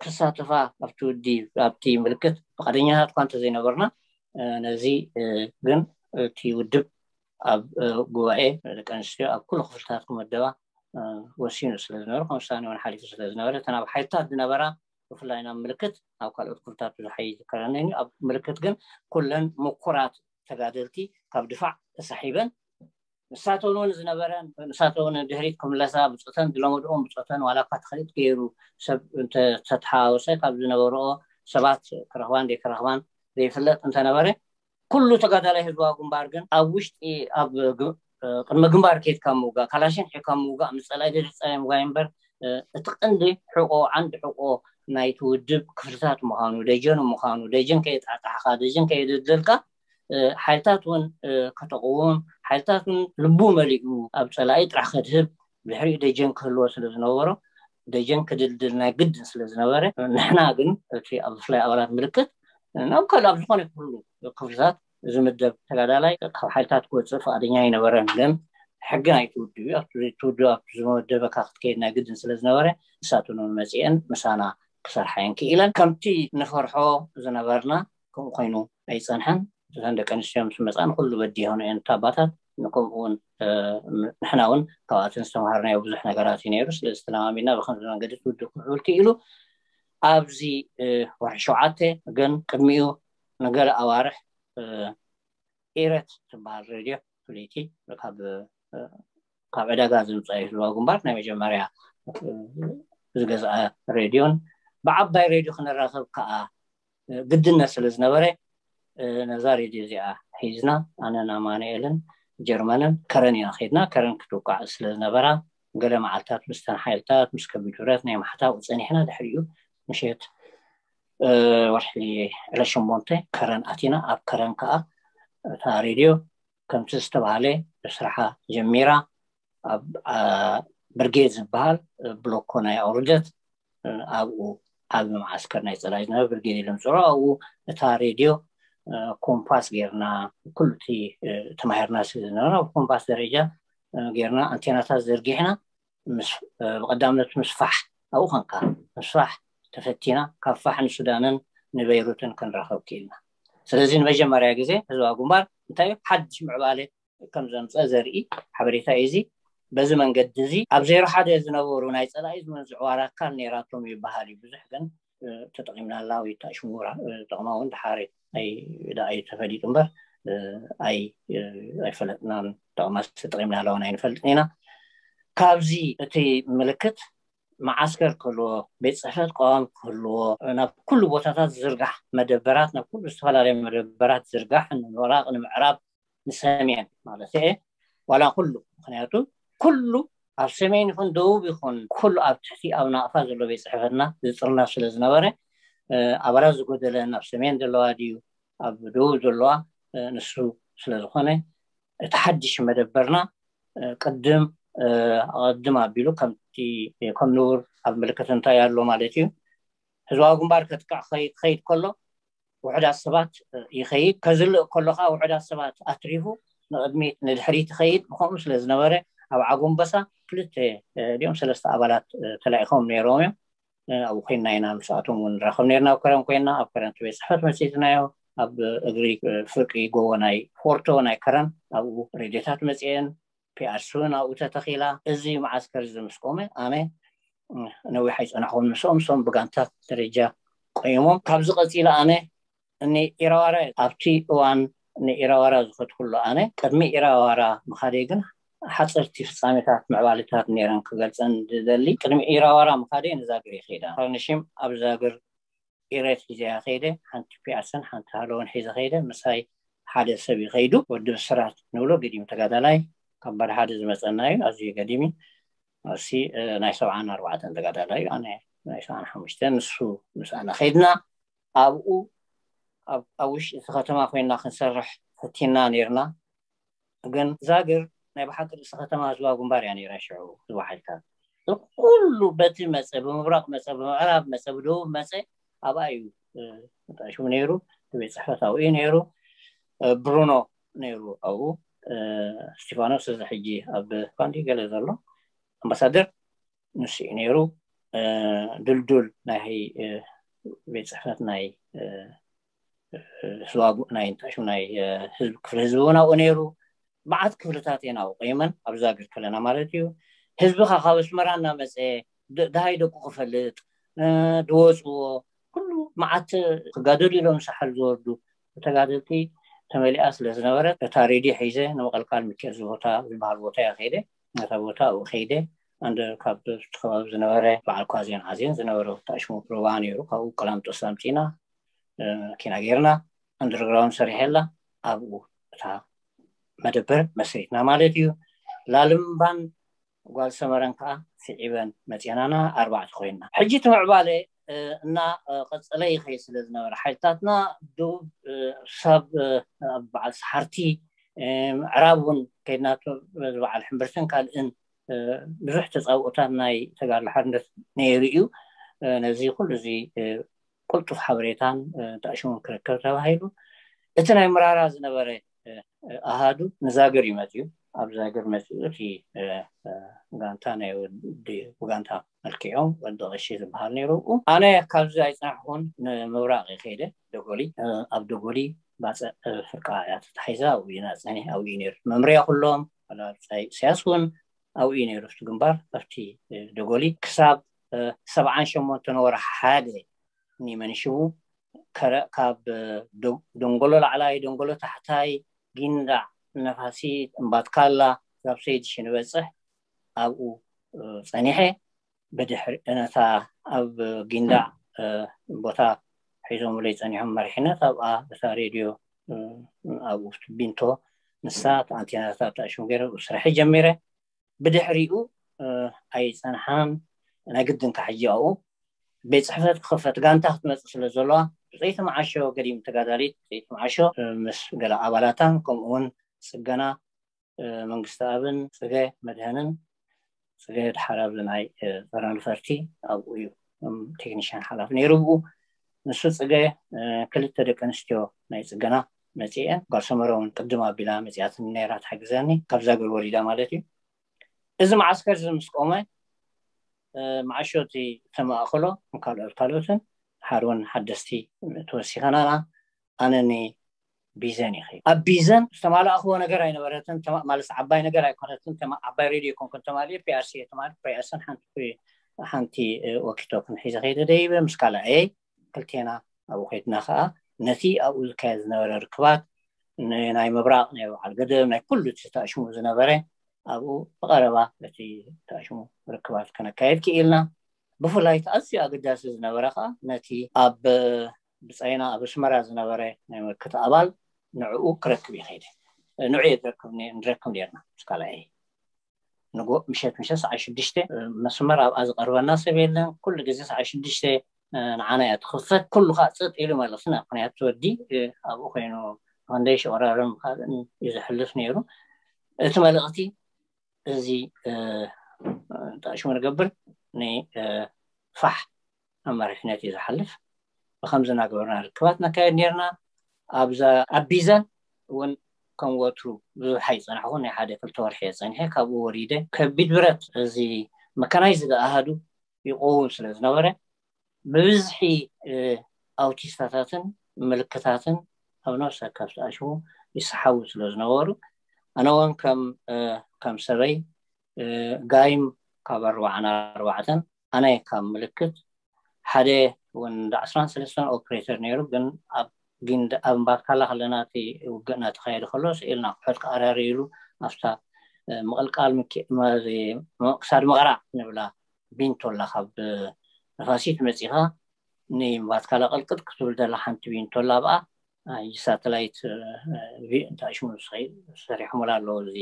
ክሳተፋ ኣብቲ ውዲ ኣብቲ ምልክት ፍቃደኛታት እኳ እንተዘይነበርና ነዚ ግን እቲ ውድብ ኣብ ጉባኤ ደቂ ኣንስትዮ ኣብ ኩሉ ክፍልታት ክመደባ ወሲኑ ስለ ዝነበረ ከም ውሳኔ እውን ሓሊፉ ስለ ዝነበረ እተን ኣብ ሓይልታት ዝነበራ ብፍላይ ናብ ምልክት ኣብ ካልኦት ክፍልታት ብዙሕ ኣይዝከረኒ ኣብ ምልክት ግን ኩለን ምኩራት ተጋደልቲ ካብ ድፋዕ ተሳሒበን ንሳተውን እውን ዝነበረ ንሳተውን ድሕሪት ክምለሳ ብፆተን ዝለመድኦም ብፆተን ዋላ እኳ ተኸሊጥ ገይሩ ሰብ እንተተተሓዋወሰ ካብ ዝነበረኦ ሰባት ክረኽባን ዘይክረኽባን ዘይፍለጥ እንተነበረ ኩሉ ተጋዳላይ ህዝባዊ ግንባር ግን ኣብ ውሽጢ ኣብ ቅድሚ ግንባር ከይድካ ምውጋእ ካላሽን ሒካ ምውጋእ ምስ ፀላኢ ደድፀላኢ ምውጋይ እምበር እቲ ቀንዲ ሕቆ ዓንዲ ሕቆ ናይቲ ውድብ ክፍልታት ምዃኑ ደጀኑ ምዃኑ ደጀን ከየጣጣሕካ ደጀን ከየደልደልካ ሓይልታት እውን ከተቕውም ሓይልታት እውን ልቡ መሊኡ ኣብ ፀላኢ ጥራሕ ከድህብ ድሕሪኡ ደጀን ክህልዎ ስለ ዝነበሮ ደጀን ክድልድል ናይ ግድን ስለ ዝነበረ ንሕና ግን እቲ ኣብ ብፍላይ ኣባላት ምልክት ናብ ካልእ ኣብ ዝኾነ ኩሉ ክፍልታት ዝምደብ ተጋዳላይ ካብ ሓይልታት ክወፅእ ፍቓደኛ ኣይነበረን። ግን ሕጊ ናይቲ ውድብ እዩ። ኣብቲ ውድብ ኣብቲ ዝመደበካ ክትከይድ ናይ ግድን ስለ ዝነበረ ንሳተን እውን መፂኤን ምሳና ክሰርሓ እየን ክኢለን። ከምቲ ንፈርሖ ዝነበርና ከምኡ ኮይኑ ኣይፀንሐን። እተን ደቂ ኣንስትዮ ምስ መፃ ንኩሉ በዲሆን እየን እታ ኣባታት። ከምኡ እውን ንሕና እውን ካብኣተን ዝተምሃርናዮ ብዙሕ ነገራት እዩ ነይሩ። ስለዚ ተለማሚድና ብከምዚ መንገዲ እቲ ውድብ ክምዕብል ክኢሉ። ኣብዚ ወርሒ ሸውዓተ ግን ቅድሚኡ ንገለ ኣዋርሕ ኢረት ትበሃል ሬድዮ ፍልይቲ ካብ ካብ ዕዳጋ ዝምፃ እዩ ህዝባዊ ግንባር ናይ መጀመርያ ዝገዝኣ ሬድዮን ብዓባይ ሬድዮ ክንራኸብ ከዓ ግድነት ስለ ዝነበረ ነዛ ሬድዮ እዚኣ ሒዝና ኣነን ኣማኑኤልን ጀርመንን ከረን ኢና ከይድና። ከረን ክትውቃዕ ስለ ዝነበራ ገለ መዓልታት ምስተን ሓይልታት ምስ ከቢድ ብረት ናይ ማሕታው ፀኒሕና ድሕሪኡ ምሸት ወርሒ ዕለት ሸሞንተ ከረን ኣቲና። ኣብ ከረን ከዓ እታ ሬድዮ ከምቲ ዝተባሃለ ስራሓ ጀሚራ ኣብ ብርጌድ ዝበሃል ብሎኮ ናይ ኣውርደት ኣብኡ ዓቢ መዓስከር ናይ ፀላኢ ዝነበረ ብርጌድ ኢሎም ዝፅውዑ ኣብኡ እታ ሬድዮ ኮምፓስ ጌርና ኩሉ እቲ ተማሂርና ስለ ዝነበረ ኣብ ኮምፓስ ደረጃ ጌርና ኣንቴናታት ዘርጊሕና ብቐዳምነት ምስፋሕ ኣብኡ ኸንካ ምስፋሕ ተፈቲና ካብ ፋሕ ንሱዳንን ንበይሩትን ክንራኸብ ክኢልና። ስለዚ ንመጀመርያ ግዜ ህዝባዊ ግንባር እንታይ ሓድሽ ምዕባለ ከም ዘምፀ ዘርኢ ሓበሬታ እዩ። እዚ በዚ መንገዲ እዚ ኣብ ዜሮ ሓደ ዝነበሩ ናይ ፀላኢ ዝመንዝዕዋ ኣካል ነይራቶም ይበሃል እዩ። ብዙሕ ግን ተጠቂምናላ ወይ ተሽሙራ ጠቕማ እውን ድሓር ኣይተፈሊጡ እምበር ኣይፈለጥናን። ጠቕማ ተጠቂምናላ እውን ኣይንፈልጥን ኢና። ካብዚ እቲ ምልክት መዓስከር ክህልዎ፣ ቤት ፅሕፈት ቀዋም ክህልዎ፣ ናብ ኩሉ ቦታታት ዝርጋሕ መደበራት፣ ናብ ኩሉ ዝተፈላለዩ መደበራት ዝርጋሕ፣ ንወራቕ ንምዕራብ ንሰሜን ማለት እየ ዋላ ኩሉ ምክንያቱ ኩሉ ኣብ ሰሜን ይኹን ደቡብ ይኹን ኩሉ ኣብ ትሕቲ ኣብ ናቕፋ ዘሎ ቤት ፅሕፈትና ዝጥርነፍ ስለ ዝነበረ ኣባላት ዝጎደለን ኣብ ሰሜን ዘለዋ ድዩ ኣብ ደቡብ ዘለዋ ንሱ ስለዝኾነ እቲ ሓድሽ መደበርና ቅድም ኣቐድም ኣቢሉ ከምቲ ከም ንቡር ኣብ ምልክት እንታይ ኣሎ ማለት እዩ ህዝባዊ ግንባር ከጥቅዕ ክኸይድ ከሎ ውሑዳት ሰባት ይኸይድ ከዝልእ ከሎ ከዓ ውሑዳት ሰባት ኣትሪፉ ንቕድሚት ንድሕሪት ይኸይድ። ብከምኡ ስለ ዝነበረ ኣብ ዓጎንበሳ ክልተ ድኦም ሰለስተ ኣባላት ተላኢኾም ነይሮም እዮም። ኣብኡ ኮይና ኢና ምስኣቶም እውን ንራኸብ ነርና። ኣብ ከረን ኮይና ኣብ ከረን ቤት ፅሕፈት መፂትናዮ ኣብ እግሪ ፍርቂ ጎቦ ናይ ፎርቶ ናይ ከረን ኣብኡ ሬድዮታት መፅኤን ፒኣርሲ እውን ኣብኡ ተተኺላ። እዚ መዓስከር እዚ ምስ ቆመ ኣነ ነዊሕ ኣይፀናሕኹን ምስኦም። እሶም ብጋንታት ደረጃ ቆይሞም ካብዚ ቀፂለ ኣነ ንኢራዋራ ኣብቲ እዋን ንኢራዋራ ዝኸድኩሉ ኣነ ቅድሚ ኢራዋራ ምኻደይ ግን ሓፀርቲ ፍፃሜታት ምዕባልታት ነይረን ክገልፀን ዝደሊ። ቅድሚ ኢራዋራ ምኻደይ ንዛግር ይኸይዳ። ካርኒሽም ኣብ ዛግር ኢሬት ሒዘያ ከይደ። ሓንቲ ፒኣስን ሓንቲ ሃለውን ሒዘ ከይደ። ምሳይ ሓደ ሰብ ይኸይዱ። ወዲ ብስራት ንብሎ ገዲም ተጋዳላይ ካብ ባድ ሓደ ዝመፀና እዩ። ኣዝዩ ገዲም እዩ። እሲ ናይ ሰብዓን ኣርባዕተን ተጋዳላይ እዩ። ኣነ ናይ ሰብዓን ሓሙሽተን ንሱ ምስ ኣነ ከይድና ኣብኡ ኣብ ውሽጢ እቲ ከተማ ኮይና ክንሰርሕ ፈቲና ነርና። ግን ዛግር ናይ ብሓቂ ርእሲ ከተማ ህዝባዊ ግንባር እያ ነይራ። ሽዑ ህዝባዊ ሓይልታት ኩሉ በቲ መፀ፣ ብምብራቕ መፀ፣ ብምዕራብ መፀ፣ ብደቡብ መፀ ኣብኣ እዩ ተጣሽሙ ነይሩ። ቤት ፅሕፈት ኣብኡ እዩ ነይሩ። ብሩኖ ነይሩ ኣብኡ። ስቲፋኖስ እዚ ሕጂ ኣብ ኳንዲ ገለ ዘሎ ኣምባሳደር ንሱ እዩ ነይሩ። ድልዱል ናይ ቤት ፅሕፈት ናይ ህዝባዊ ናይ እንታይ ሽም ናይ ህዝቢ ክፍሊ ህዝቢ እውን ኣብኡ ነይሩ። መዓት ክፍልታት እየን ኣብኡ ቆይመን ኣብ ዛግር ከለና ማለት እዩ። ህዝቢ ከ ካብ ኣስመራ እናመፀ ደሃይ ደቁ ክፈልጥ ድወፅዎ ኩሉ መዓት ክጋደሉ ኢሎም ሳሕል ዝወርዱ ተጋደልቲ ተመሊኣ ስለ ዝነበረት እታ ሬድዮ ሒዘ ንምቕልቃል ሚካኤል ዝቦታ ዝበሃል ቦታ እያ ከይደ። ነታ ቦታ ኣብኡ ከይደ ኣንደ ካብ ከባቢ ዝነበረ በዓል ኳዜን ዓዜን ዝነበረ ወታእሽሙ ሩባ ነይሩ። ካብኡ ቀላምጦስ ኣምፂና መኪና ጌርና ኣንደርግራውንድ ሰሪሐላ ኣብኡ እታ መደበር መስሪትና ማለት እዩ። ላልምባን ጓል ሰመረን ከዓ ስዒበን መፅናና ኣርባዕተ ኮይንና ሕጂ እቲ ምዕባለ እና ቀፀለ ይኸይድ ስለ ዝነበረ ሓይልታትና ደቡብ ሳብ ኣብ በዓል ሰሓርቲ ምዕራብ እውን ከይድና በዓል ሕምብርትን ካልእን ብዙሕ ተፃብኦታት ናይ ተጋድሎ ሓርነት ነይሩ እዩ። ነዚ ኩሉ እዚ ቅልጡፍ ሓበሬታን ተኣሽሙን ክርከብ ተባሂሉ እቲ ናይ ምራራ ዝነበረ ኣሃዱ ንዛግር እዩ መፅኡ። ኣብ ዛግር መፅኡ እቲ ጋንታ ናይ ወዲ ብጋንታ መልክዖም ወዲ ቀሺ ዝበሃል ነይሩ። ኣነ ካብዚ ኣይፀናሕኩን፣ ንምብራቕ ከይደ ደጎሊ። ኣብ ደጎሊ ባፅዕ ፍርቃ እያ ተታሒዛ፣ ኣብኡ ኢና ፀኒሕ ኣብኡ እዩ ነይሩ መምርያ ኩሎም። ኢሳያስ እውን ኣብኡ እዩ ነይሩ፣ ኣብቲ ግንባር ኣብቲ ደጎሊ ክሳብ ሰብዓን ሸሞንተን ወርሒ ሓደ ኒመንሽቡ ከረ ካብ ደንጎሎ ላዕላይ፣ ደንጎሎ ታሕታይ፣ ጊንዳዕ፣ ነፋሲት፣ እምባትካላ፣ ካብ ሰይድሽ ንበፅሕ ኣብኡ ፀኒሐ። ብድሕሪ ነታ ኣብ ጊንዳዕ ቦታ ሒዞምለይ ፀኒሖም መሪሕነት ኣብኣ እታ ሬድዮ ኣብኡ ቢንቶ ንሳ ኣንቴናታት ተኣሽሙ ገይረ ስራሕ ጀሚረ። ብድሕሪኡ ኣይፀንሓን። ናይ ግድን ካሕጂ ኣብኡ ቤት ፅሕፈት ክኸፈት ጋንታ ክትመፅእ ስለ ዘለዋ ብፀይቲ መዓሾ ገዲም ተጋዳሊት ብፀይቲ መዓሾ ምስ ገለ ኣባላታን ከምኡውን ፅገና መንግስቲ ኣብን ፅገ መድህንን ፅገ ድሓር ኣብዚ ናይ ፀረ ነፈርቲ ኣብኡ እዩ ቴክኒሽያን ሓላፊ ነይሩ። ብኡ ንሱ ፅገ ክልተ ደቂ ኣንስትዮ ናይ ፅገና መፅኤን ጓል ሰመረ እውን ቅድም ኣቢላ መፅያትን ነይራ ትሓግዘኒ ካብዛ ገር ወሪዳ ማለት እዩ። እዚ መዓስከር እዚ ምስ ቆመ መዓሾ እቲ ተመኣኸሎ ካልኦት ካልኦትን ሓርውን ሓደስቲ ተወሲኸናና ኣነኒ ቢዘን ይኸ ኣብ ቢዘን ዝተማላእክዎ ነገር ኣይነበረትን። ማለት ዓባይ ነገር ኣይኮነትን። ዓባይ ሬድዮ ይኮንኩን ተማሊ ፒኣርሲ ተማሊ ፒኣርስን ሓንቲ ወኪቶ ክንሒዘ ከይደ ደይበ ምስ ካልኣየይ ክልቴና ኣብኡ ከይድና ከዓ ነቲ ኣብኡ ዝካየድ ዝነበረ ርክባት ናይ ምብራቕ ናይ በዓል ገደብ ናይ ኩሉ ተኣሽሙ ዝነበረ ኣብኡ ብቐረባ እቲ ተኣሽሙ ርክባት ከነካየድ ክኢልና። ብፍላይ እቲ ኣዝዩ ኣገዳሲ ዝነበረ ከዓ ነቲ ኣብ ብፀይና ኣብ ኣስመራ ዝነበረ ናይ ምልክት ኣባል ንዕኡ ክረክብ ይኸይደ ንዑ ንረክብ ነርና ምስ ካልኣየ ንጎ ምሸት ምሸት ሰዓ ሽዱሽተ መስመር ኣብኣ ዝቐርበና ሰብ የለን። ኩሉ ግዜ ሰዓ ሽዱሽተ ንዓና እያ ትኽፈት። ኩሉ ከዓ ፀጥ ኢሉ ማለት ና ምክንያቱ ወዲ ኣብኡ ኮይኑ ክንደይ ሸቆራርም ካልእን እዩ ዝሕልፍ ነይሩ። እቲ መልእኽቲ እዚ ተኣሽሙ ንገብር ንፋሕ ኣብ መሪሕነት እዩ ዝሓልፍ። ብከምዚ እናገበርና ርክባት ነካየድ ነርና። ኣብዛ ኣብ ቢዘን እውን ከም ወትሩ ብዙሕ ኣይፀናሕኩ ናይ ሓደ ክልተ ወርሒ እየ ፀኒሐ ካብኡ ወሪደ ከቢድ ብረት እዚ መካናይዝድ ኣሃዱ ይቆውም ስለ ዝነበረ ብብዝሒ ኣውቲስታታትን ምልክታትን ኣብ ነፍሲ ወከፍ ተኣሽሙ ይሰሓቡ ስለ ዝነበሩ ኣነ እውን ከም ከም ሰበይ ጋይም ካብ ኣርባዓን ኣርባዕተን ኣነ ካብ ምልክት ሓደ እውን እንዳ ዕስራን ሰለስተን ኦፕሬተር ነይሩ ግን ኣብ ጊንዳ ኣብ እምባትካላ ከለና እቲ ውግእ እናተኻየደ ከሎ ስኢልና ኣቑሑት ክኣራርይሉ ኣብታ ምቕልቃል ክሳድ መቕራዕ ንብላ ቢንቶላ ካብ ነፋሲት መፂኻ ንእምባትካላ ቅልቅጥ ክትብል ደላ ሓንቲ ቢንቶላ ኣብኣ ሳተላይት እንታይ ሽሙ ዝሰሪሖምላ ኣለዎ እዚ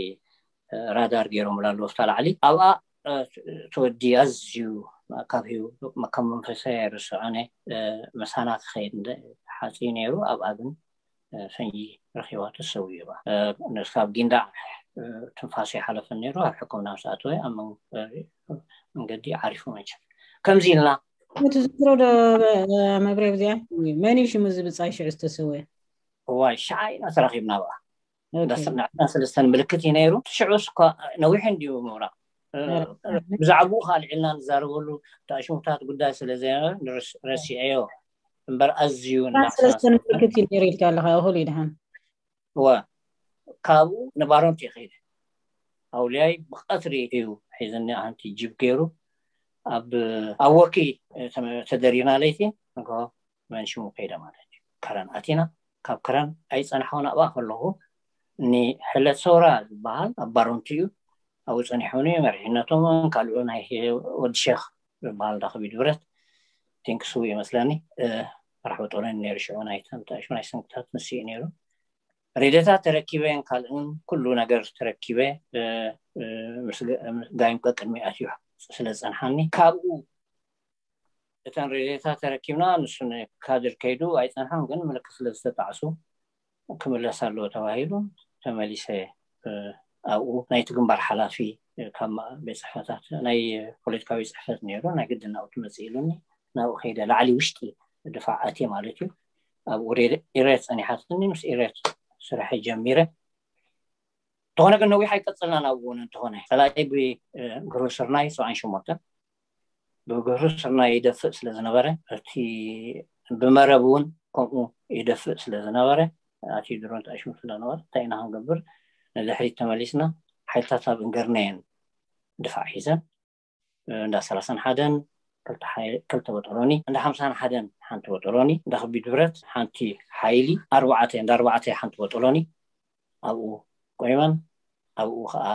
ራዳር ገይሮምላ ኣለዎ ስታ ላዕሊ ኣብኣ ተወዲ ኣዝዩ ካብ ሂቡ ካብ መንፈሳዊ ኣይርስዖነ መሳና ክኸይድ ሓፂ ነይሩ ኣብኣ ግን ፈንጂ ረኪባ ተሰዊባ ነስካብ ጊንዳዕ ትንፋሱ ይሓለፈን ነይሩ ኣብ ሕክምና ምስ ኣተወ ኣብ መንገዲ ዓሪፉ መቸም ከምዚ ኢልና ትዝክሮ ዶ መብሬ ብዚኣ መን እዩ ሽሙ ዝብፃይ ሽዑ ዝተሰወ እዋይ ሸዓ ኢና ተራኪብና ብኣ ንዕስራን ሰለስተን ምልክት እዩ ነይሩ ሽዑ እኳ ነዊሕ እንድዩ ምብራቅ ብዛዕባኡ ከዓ ልዕልና ንዛረበሉ ተኣሽሙታት ጉዳይ ስለ ዘይነበረ ረሲዐዮ እምበር ኣዝዩ ሰለስተን ምልክት እዩ ነይሩ ኢልካ ኣለካ እኹል ይድሓን እወ ካብኡ ንባሮንቲ ይኸይደ ኣውልያይ ብቀትሪ እዩ ሒዝኒ ሓንቲ ጅብ ገይሩ ኣብ ኣወኪ ተደሪና ለይቲ ንግሆ መን ሽሙ ከይደ ማለት እዩ ከረን ኣቲና ካብ ከረን ኣይፀናሕኩን ኣብኣ ከለኹ ንሕለት ሰውራ ዝበሃል ኣብ ባሮንቲ እዩ ኣብኡ ፀኒሖም መሪሕነቶም ካልኡ ናይ ወዲ ሸክ ዝበሃል ዳ ከቢድ ብረት ቲንክስው ይመስለኒ ራሕ ወጦረን ነይሩ ሽዑ ናይ ተምታሹ ናይ ሰንክታት ንስኡ ነይሩ ሬድዮታት ተረኪበ ካልእን ኩሉ ነገር ተረኪበ ጋይም ቀቅድሚ ኣትዩ ስለ ዝፀንሓኒ ካብኡ እተን ሬድዮታት ተረኪብና ንሱ ንካድር ከይዱ ኣይፀንሓን ግን ምልክት ስለ ዝተጣዕሱ ክምለስ ኣለዎ ተባሂሉ ተመሊሰ ኣብኡ ናይቲ ግንባር ሓላፊ ካብ ቤት ፅሕፈታት ናይ ፖለቲካዊ ፅሕፈት ነይሩ ናይ ግድን ኣብኡ ትመፅእ ኢሉኒ ናብኡ ከይደ ላዕሊ ውሽጢ ድፋዕ ኣትየ ማለት እዩ ኣብኡ ኢሬ ጸኒሓትኒ፣ ምስ ኢሬ ስራሕ ጀሚረ። እንተኾነ ግን ነዊሕ ኣይቀጽልናን ኣብኡ እውን። እንተኾነ ጸላኢ ብግህሩ ስርናይ ሰብዓን ሸሞንተን ብግህሩ ስርናይ ይደፍእ ስለ ዝነበረ፣ እቲ ብመረብ እውን ከምኡ ይደፍእ ስለ ዝነበረ፣ ኣትዩ ድሮን ተኣሽሙ ስለ ዝነበረ እንታይ ኢና ክንገብር? ንድሕሪት ተመሊስና ሓይልታት ኣብ እንገርነየን ድፋዕ ሒዘን እንዳ ሰላሳን ሓደን ክልተ በጦሎኒ፣ እንዳ ሓምሳን ሓደን ሓንቲ በጦሎኒ፣ እንዳ ከቢድ ብረት ሓንቲ ሓይሊ ኣርባዕተ፣ እንዳ ኣርባዕተ ሓንቲ በጦሎኒ ኣብኡ ቆይመን፣ ኣብኡ ከዓ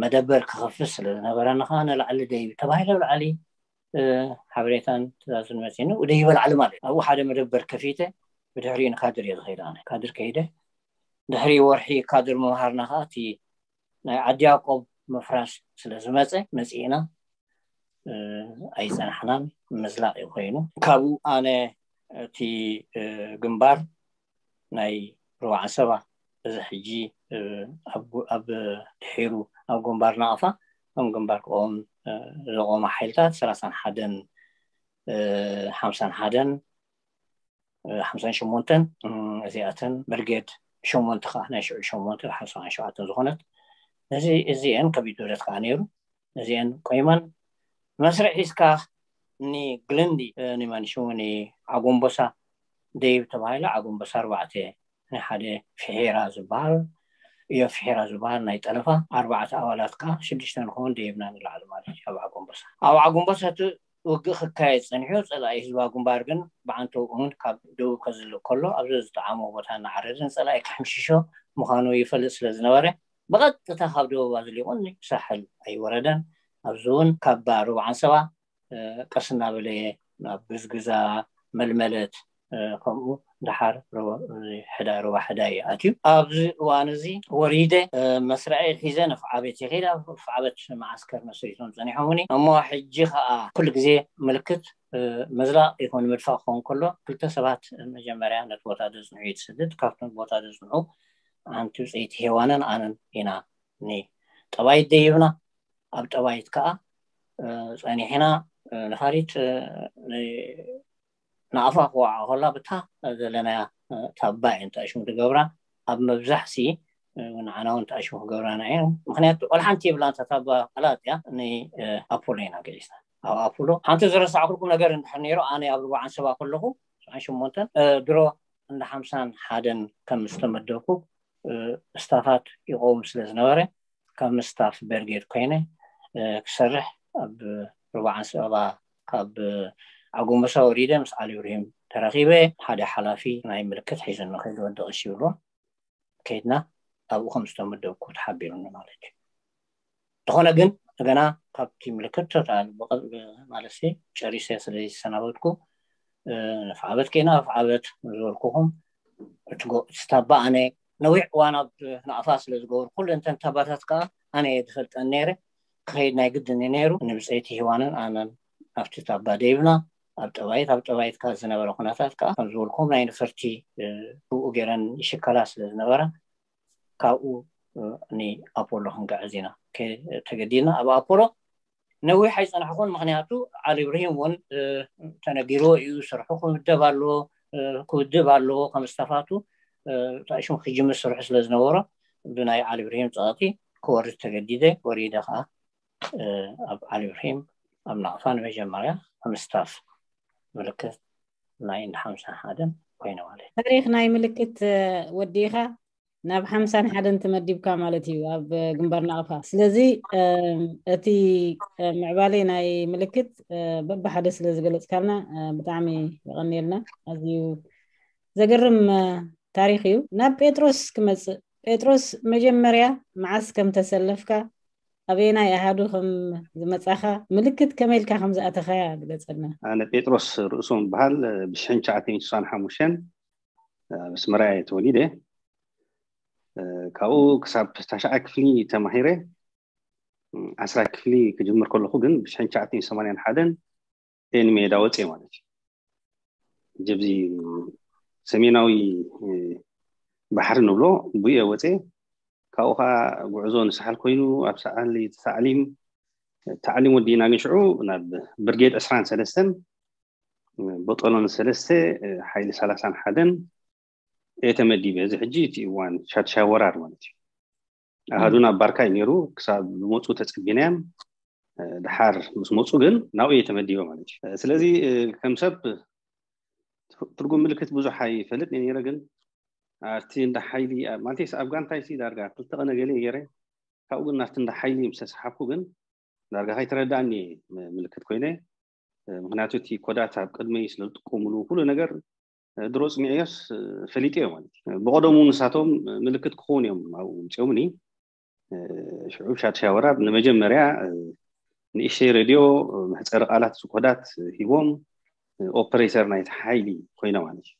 መደበር ክኸፍት ስለ ዝነበረና ከዓ ንላዕሊ ደይብ ተባሂለ ብላዕሊ ሓበሬታን ትእዛዝን መፂኑ ደይበ ላዕሊ ማለት እዩ። ኣብኡ ሓደ መደበር ከፊተ ብድሕሪኡ ንካድር እየ ዝኸይደ። ኣነ ካድር ከይደ ድሕሪ ወርሒ ካድር ምምሃርና ከዓ እቲ ናይ ዓዲ ያዕቆብ ምፍራስ ስለ ዝመፀ መፂእና ኣይፀናሕናን፣ ምዝላቕ እዩ ኮይኑ። ካብኡ ኣነ እቲ ግንባር ናይ ርባዓ ሰባ እዚ ሕጂ ኣብ ድሒሩ ኣብ ግንባር ናቕፋ ከም ግንባር ክቆም ዘቆመ ሓይልታት ሰላሳን ሓደን ሓምሳን ሓደን ሓምሳን ሸሞንተን እዚኣተን ብርጌድ ሸሞንተ ከዓ ናይ ሽዑ ሸሞንተ ሓምሳን ሸውዓተን ዝኾነት እዚ እዚአን ከቢድ ብረት ከዓ ነይሩ። እዚአን ቆይመን መስርዕ ሒዝካ ንግልንዲ ንመንሽሙ ንዓጎምቦሳ ደይብ ተባሂሉ ዓጎምቦሳ ኣርባዕተ ንሓደ ፍሒራ ዝበሃል እዮ ፍሒራ ዝበሃል ናይ ጠለፋ ኣርባዕተ ኣባላት ከዓ ሽዱሽተ ንኸውን ደይብና ንላዕሊ ማለት እዩ። ኣብ ዓጎምቦሳ ኣብ ዓጎምቦሳ እቲ ውግእ ክካየድ ፀኒሑ ፀላኢ ህዝባዊ ግንባር ግን ብዓንተው እውን ካብ ደቡብ ከዝልእ ከሎ ኣብዚ ዝጠዓሞ ቦታ እናዓረደ ንፀላኢ ክሕምሽሾ ምዃኑ ይፈልጥ ስለ ዝነበረ ብቐጥታ ካብ ደቡብ ኣዝሊቑ ንሳሕል ኣይወረደን። ኣብዚ እውን ካብ ሩባ ዓንሰባ ቀስ እናበለ ናብ ግዝግዛ መልመለት ከምኡ ድሓር ሕዳ ሩባ ሕዳ እዩ ኣትዩ። ኣብዚ እዋን እዚ ወሪደ መስርዐይ ሒዘ ንፍዓበት ይኸይድ። ኣብ ፍዓበት መዓስከር መስሪቶም ፀኒሖምኒ እሞ ሕጂ ከዓ ኩሉ ግዜ ምልክት መዝላቕ ይኹን ምድፋእ ክኸውን ከሎ ክልተ ሰባት መጀመርያ ነቲ ቦታ ዘፅንዑ እዩ ትስድድ። ካብቶም ቦታ ዘፅንዑ ሓንቲ ብፀይቲ ሄዋንን ኣነን ኢና ጠባይት ደይብና። ኣብ ጠባይት ከዓ ፀኒሕና ነፋሪት ንኣፋ ክወዓ ከላ ብታ ዘለናያ ታባ እየን ተኣሽሙ ትገብራ። ኣብ መብዛሕሲ ንዓና እውን ተኣሽሙ ክገብራና እየን። ምክንያቱ ቆልሓንቲ የብላን እታ ታባ ቀላጥ እያ። ንኣፖሎ ኢና ገሊስና። ኣብ ኣፖሎ ሓንቲ ዝረሳዕኩልኩም ነገር እንድሕር ነይሩ ኣነ ኣብ ርባዓን ሰባ ከለኹ ሰብዓን ሸሞንተን ድሮ እንዳ ሓምሳን ሓደን ከም ዝተመደብኩ ስታፋት ይቆውም ስለ ዝነበረ ካብ ምስታፍ በርጌድ ኮይነ ክሰርሕ ኣብ ርባዓን ሰባ ካብ ኣጎመሳ ወሪደ ምስ ዓሊ ብርሂም ተራኺበ ሓደ ሓላፊ ናይ ምልክት ሒዘኒ ከይዱ ወዲ ቀሺ ይብሎ ከይድና ኣብኡ ከም ዝተመደብኩ ተሓቢሩኒ ማለት እዩ። ዝኾነ ግን ገና ካብቲ ምልክት ቶታል ማለት ጨሪሰ ስለ ዝሰናበትኩ ንፍዓበት ከይና ፍዓበት ዝበልኩኹም እቲ ታባ ኣነ ነዊሕ እዋን ኣብ ናቕፋ ስለ ዝገበሩ ኩሉ እንተን ታባታት ከዓ ኣነ እየ ዝፈልጠን ነይረ። ክኸይድ ናይ ግድን እዩ ነይሩ። ንብፀይቲ ሂዋንን ኣነን ኣብቲ ታባ ደይብና ኣብ ጠባይት ኣብ ጠባይት ከዓ ዝነበረ ኩነታት ከዓ ከም ዝበልኩም ናይ ነፈርቲ ብኡ ገይረን ይሽከላ ስለ ዝነበራ ካብኡ ንኣፖሎ ክንግዕዝ ኢና ተገዲድና። ኣብ ኣፖሎ ነዊሕ ኣይፀናሕኩን። ምክንያቱ ዓሊ ብርሂም እውን ተነጊርዎ እዩ ስርሑ ክውደብ ኣለዎ ክውድብ ኣለዎ ከም ስታፋቱ ተኣሽሙ ክጅምር ስርሑ ስለ ዝነበሮ ብናይ ዓሊ ብርሂም ፀቕጢ ክወርድ ተገዲደ። ወሪደ ከዓ ኣብ ዓሊ ብርሂም ኣብ ናቕፋ ንመጀመርያ ከም ስታፍ ምልክት ናይ እንዳ ሓምሳን ሓደን ኮይነ ማለት እዩ። ታሪክ ናይ ምልክት ወዲእኻ ናብ ሓምሳን ሓደን ተመዲብካ ማለት እዩ ኣብ ግንባር ናቕፋ። ስለዚ እቲ ምዕባለ ናይ ምልክት በብሓደ ስለ ዝገለፅካልና ብጣዕሚ የቐንየልና። ኣዝዩ ዘገርም ታሪክ እዩ። ናብ ጴጥሮስ ክመፅእ፣ ጴጥሮስ መጀመርያ መዓስ ከም ተሰለፍካ ኣበየናይ ኣሃዱ ከም ዝመፃኻ ምልክት ከመይ ኢልካ ከም ዝኣተኻያ ግለፀልና። ኣነ ጴጥሮስ ርእሶም በሃል ብሽሕን ትሽዓተ ሚእትን ስሳን ሓሙሽተን ኣብ ኣስመራ እየ ተወሊደ። ካብኡ ክሳብ ታሽዓይ ክፍሊ ተማሂረ። ዓስራይ ክፍሊ ክጅምር ከለኹ ግን ብሽሕን ትሽዓተ ሚእትን ሰማንያን ሓደን እየ ንሜዳ ወፅየ ማለት እዩ። ጀብዚ ሰሜናዊ ባሕሪ ንብሎ ብየ ወፅየ። ካብኡ ከዓ ጉዕዞ ንሳሕል ኮይኑ ኣብ ሰዓሊ ተታዕሊም ታዕሊም ወዲእና ግን ሽዑ ናብ ብርጌድ ዕስራን ሰለስተን ቦጦሎኒ ሰለስተ ሓይሊ ሰላሳን ሓደን እየ ተመዲበ። እዚ ሕጂ እቲ እዋን ሻድሻይ ወራር ማለት እዩ። ኣሃዱና ኣብ ባርካ እዩ ነይሩ። ክሳብ ዝመፁ ተፀቢናዮም፣ ድሓር ምስ መፁ ግን ናብኡ እየ ተመዲበ ማለት እዩ። ስለዚ ከም ሰብ ትርጉም ምልክት ብዙሕ ኣይፈልጥ ነይረ፣ ግን ኣብቲ እንዳ ሓይሊ ማለት ኣብ ጋንታይ ሲ ዳርጋ ክልተ ቀነ ገለ ገይረ፣ ካብኡ ግን ናብቲ እንዳ ሓይሊ ምስ ተሰሓብኩ ግን ዳርጋ ከይተረዳእኒ ምልክት ኮይነ። ምክንያቱ እቲ ኮዳት ኣብ ቅድመይ ስለ ዝጥቀምሉ ኩሉ ነገር ድሮ ፅኒዐዮስ ፈሊጠዮ ማለት እዩ። ብቀደሙ ንሳቶም ምልክት ክኸውን እዮም ኣብኡ ምፅኦምኒ። ሽዑ ሻድሻይ ወራር ንመጀመርያ ንእሽተይ ሬድዮ መሕፀሪ ቃላት ኮዳት ሂቦም ኦፐሬተር ናይቲ ሓይሊ ኮይነ ማለት እዩ።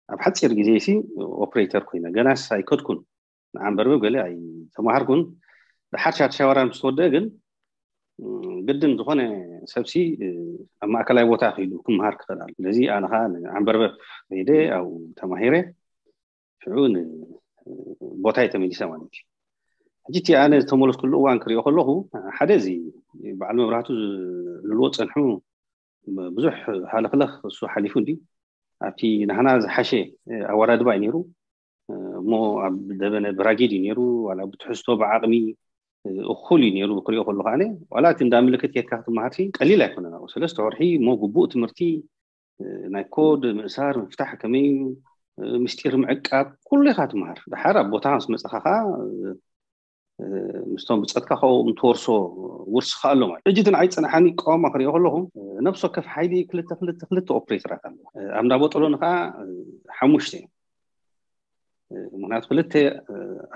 ኣብ ሓፂር ግዜ ሲ ኦፕሬተር ኮይነ ገናስ ኣይከድኩን። ንዓንበርበብ ገለ ኣይተማሃርኩን። ድሓር ሻድሻይ ወራር ምስ ተወደአ ግን ግድን ዝኾነ ሰብሲ ኣብ ማእከላይ ቦታ ክኢሉ ክምሃር ክኽእል ኣሎ። ስለዚ ኣነ ከዓ ንዓንበርበብ ከይደ ኣብኡ ተማሂረ ሽዑ ንቦታይ ተመሊሰ ማለት እዩ። ሕጂ እቲ ኣነ ዝተመለስኩሉ እዋን ክሪኦ ከለኹ ሓደ እዚ በዓል መብራህቱ ዝልዎ ፀንሑ ብዙሕ ሃለኽለኽ እሱ ሓሊፉ እንዲ ኣብቲ ናህና ዝሓሸ ኣወዳድባ እዩ ነይሩ። እሞ ኣብ ደበነ ብራጊድ እዩ ነይሩ። ዋላ ብትሕዝቶ ብዓቕሚ እኹል እዩ ነይሩ ክሪኦ ከለኹ። ኣነ ዋላ እቲ እንዳ ምልክት ኬድካ ክትመሃር ሲ ቀሊል ኣይኮነን። ኣብኡ ሰለስተ ወርሒ እሞ ግቡእ ትምህርቲ ናይ ኮድ ምእሳር ምፍታሕ ከመይ እዩ ምስጢር ምዕቃብ ኩሉ ኢኻ ትመሃር። ድሓር ኣብ ቦታ ምስ መፀኻ ከዓ ምስቶም ብፀትካ ከብኦም ትወርሶ ውርሲ ከዓ ኣሎ ማለት። ሕጂ እቲ ንዓይ ዝፀናሓኒ ቀዋማ ክሪኦ ከለኹ ነብሲ ወከፍ ሓይሊ ክልተ ክልተ ክልተ ኦፕሬተራት ኣለዎ። ኣብ እንዳ ቦጦሎኒ ከዓ ሓሙሽተ እዮም። ምክንያቱ ክልተ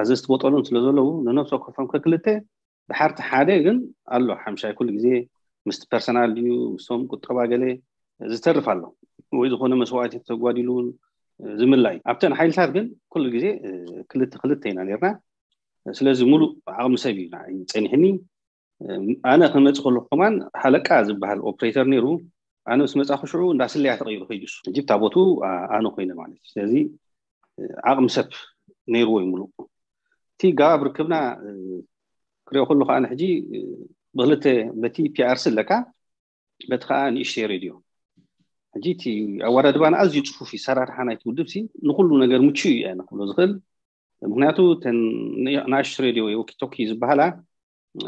ኣዘዝቲ ቦጦሎኒ ስለ ዘለዉ ንነብሲ ወከፎም ከክልተ ድሓርቲ ሓደ ግን ኣሎ ሓምሻይ ኩሉ ግዜ ምስቲ ፐርሰናል ድዩ ምስቶም ቁጠባ ገለ ዝተርፍ ኣሎ ወይ ዝኾነ መስዋዕቲ ተጓዲሉ ዝምላይ። ኣብተን ሓይልታት ግን ኩሉ ግዜ ክልተ ክልተ ኢና ነርና። ስለዚ ሙሉእ ዓቕሚ ሰብ እዩ ንዓይ ጸኒሕኒ። ኣነ ክመጽእ ከለኹ ከማን ሃለቃ ዝበሃል ኦፕሬተር ነይሩ። ኣነ ምስ መጻኹ ሽዑ እንዳ ስለያ ተቐይሩ ከይዱ እሱ። ሕጂ ብታ ቦቱ ኣነ ኮይነ ማለት እዩ። ስለዚ ዓቕሚ ሰብ ነይርዎ እዩ ሙሉእ። እቲ ጋባብ ርክብና ክሪኦ ከለኹ ኣነ ሕጂ ብክልተ በቲ ፒኣርሲ ኣለካ በቲ ከዓ ንእሽተይ ሬድዮ። ሕጂ እቲ ኣወዳድባና ኣዝዩ ፅፉፍ እዩ። ሰራርሓ ናይቲ ውድብ ሲ ንኩሉ ነገር ምቹ እዩ እየ ንክብሎ ዝኽእል። ምክንያቱ እተን ንኣሽቱ ሬድዮ ወይ ወኪቶኪ ዝበሃላ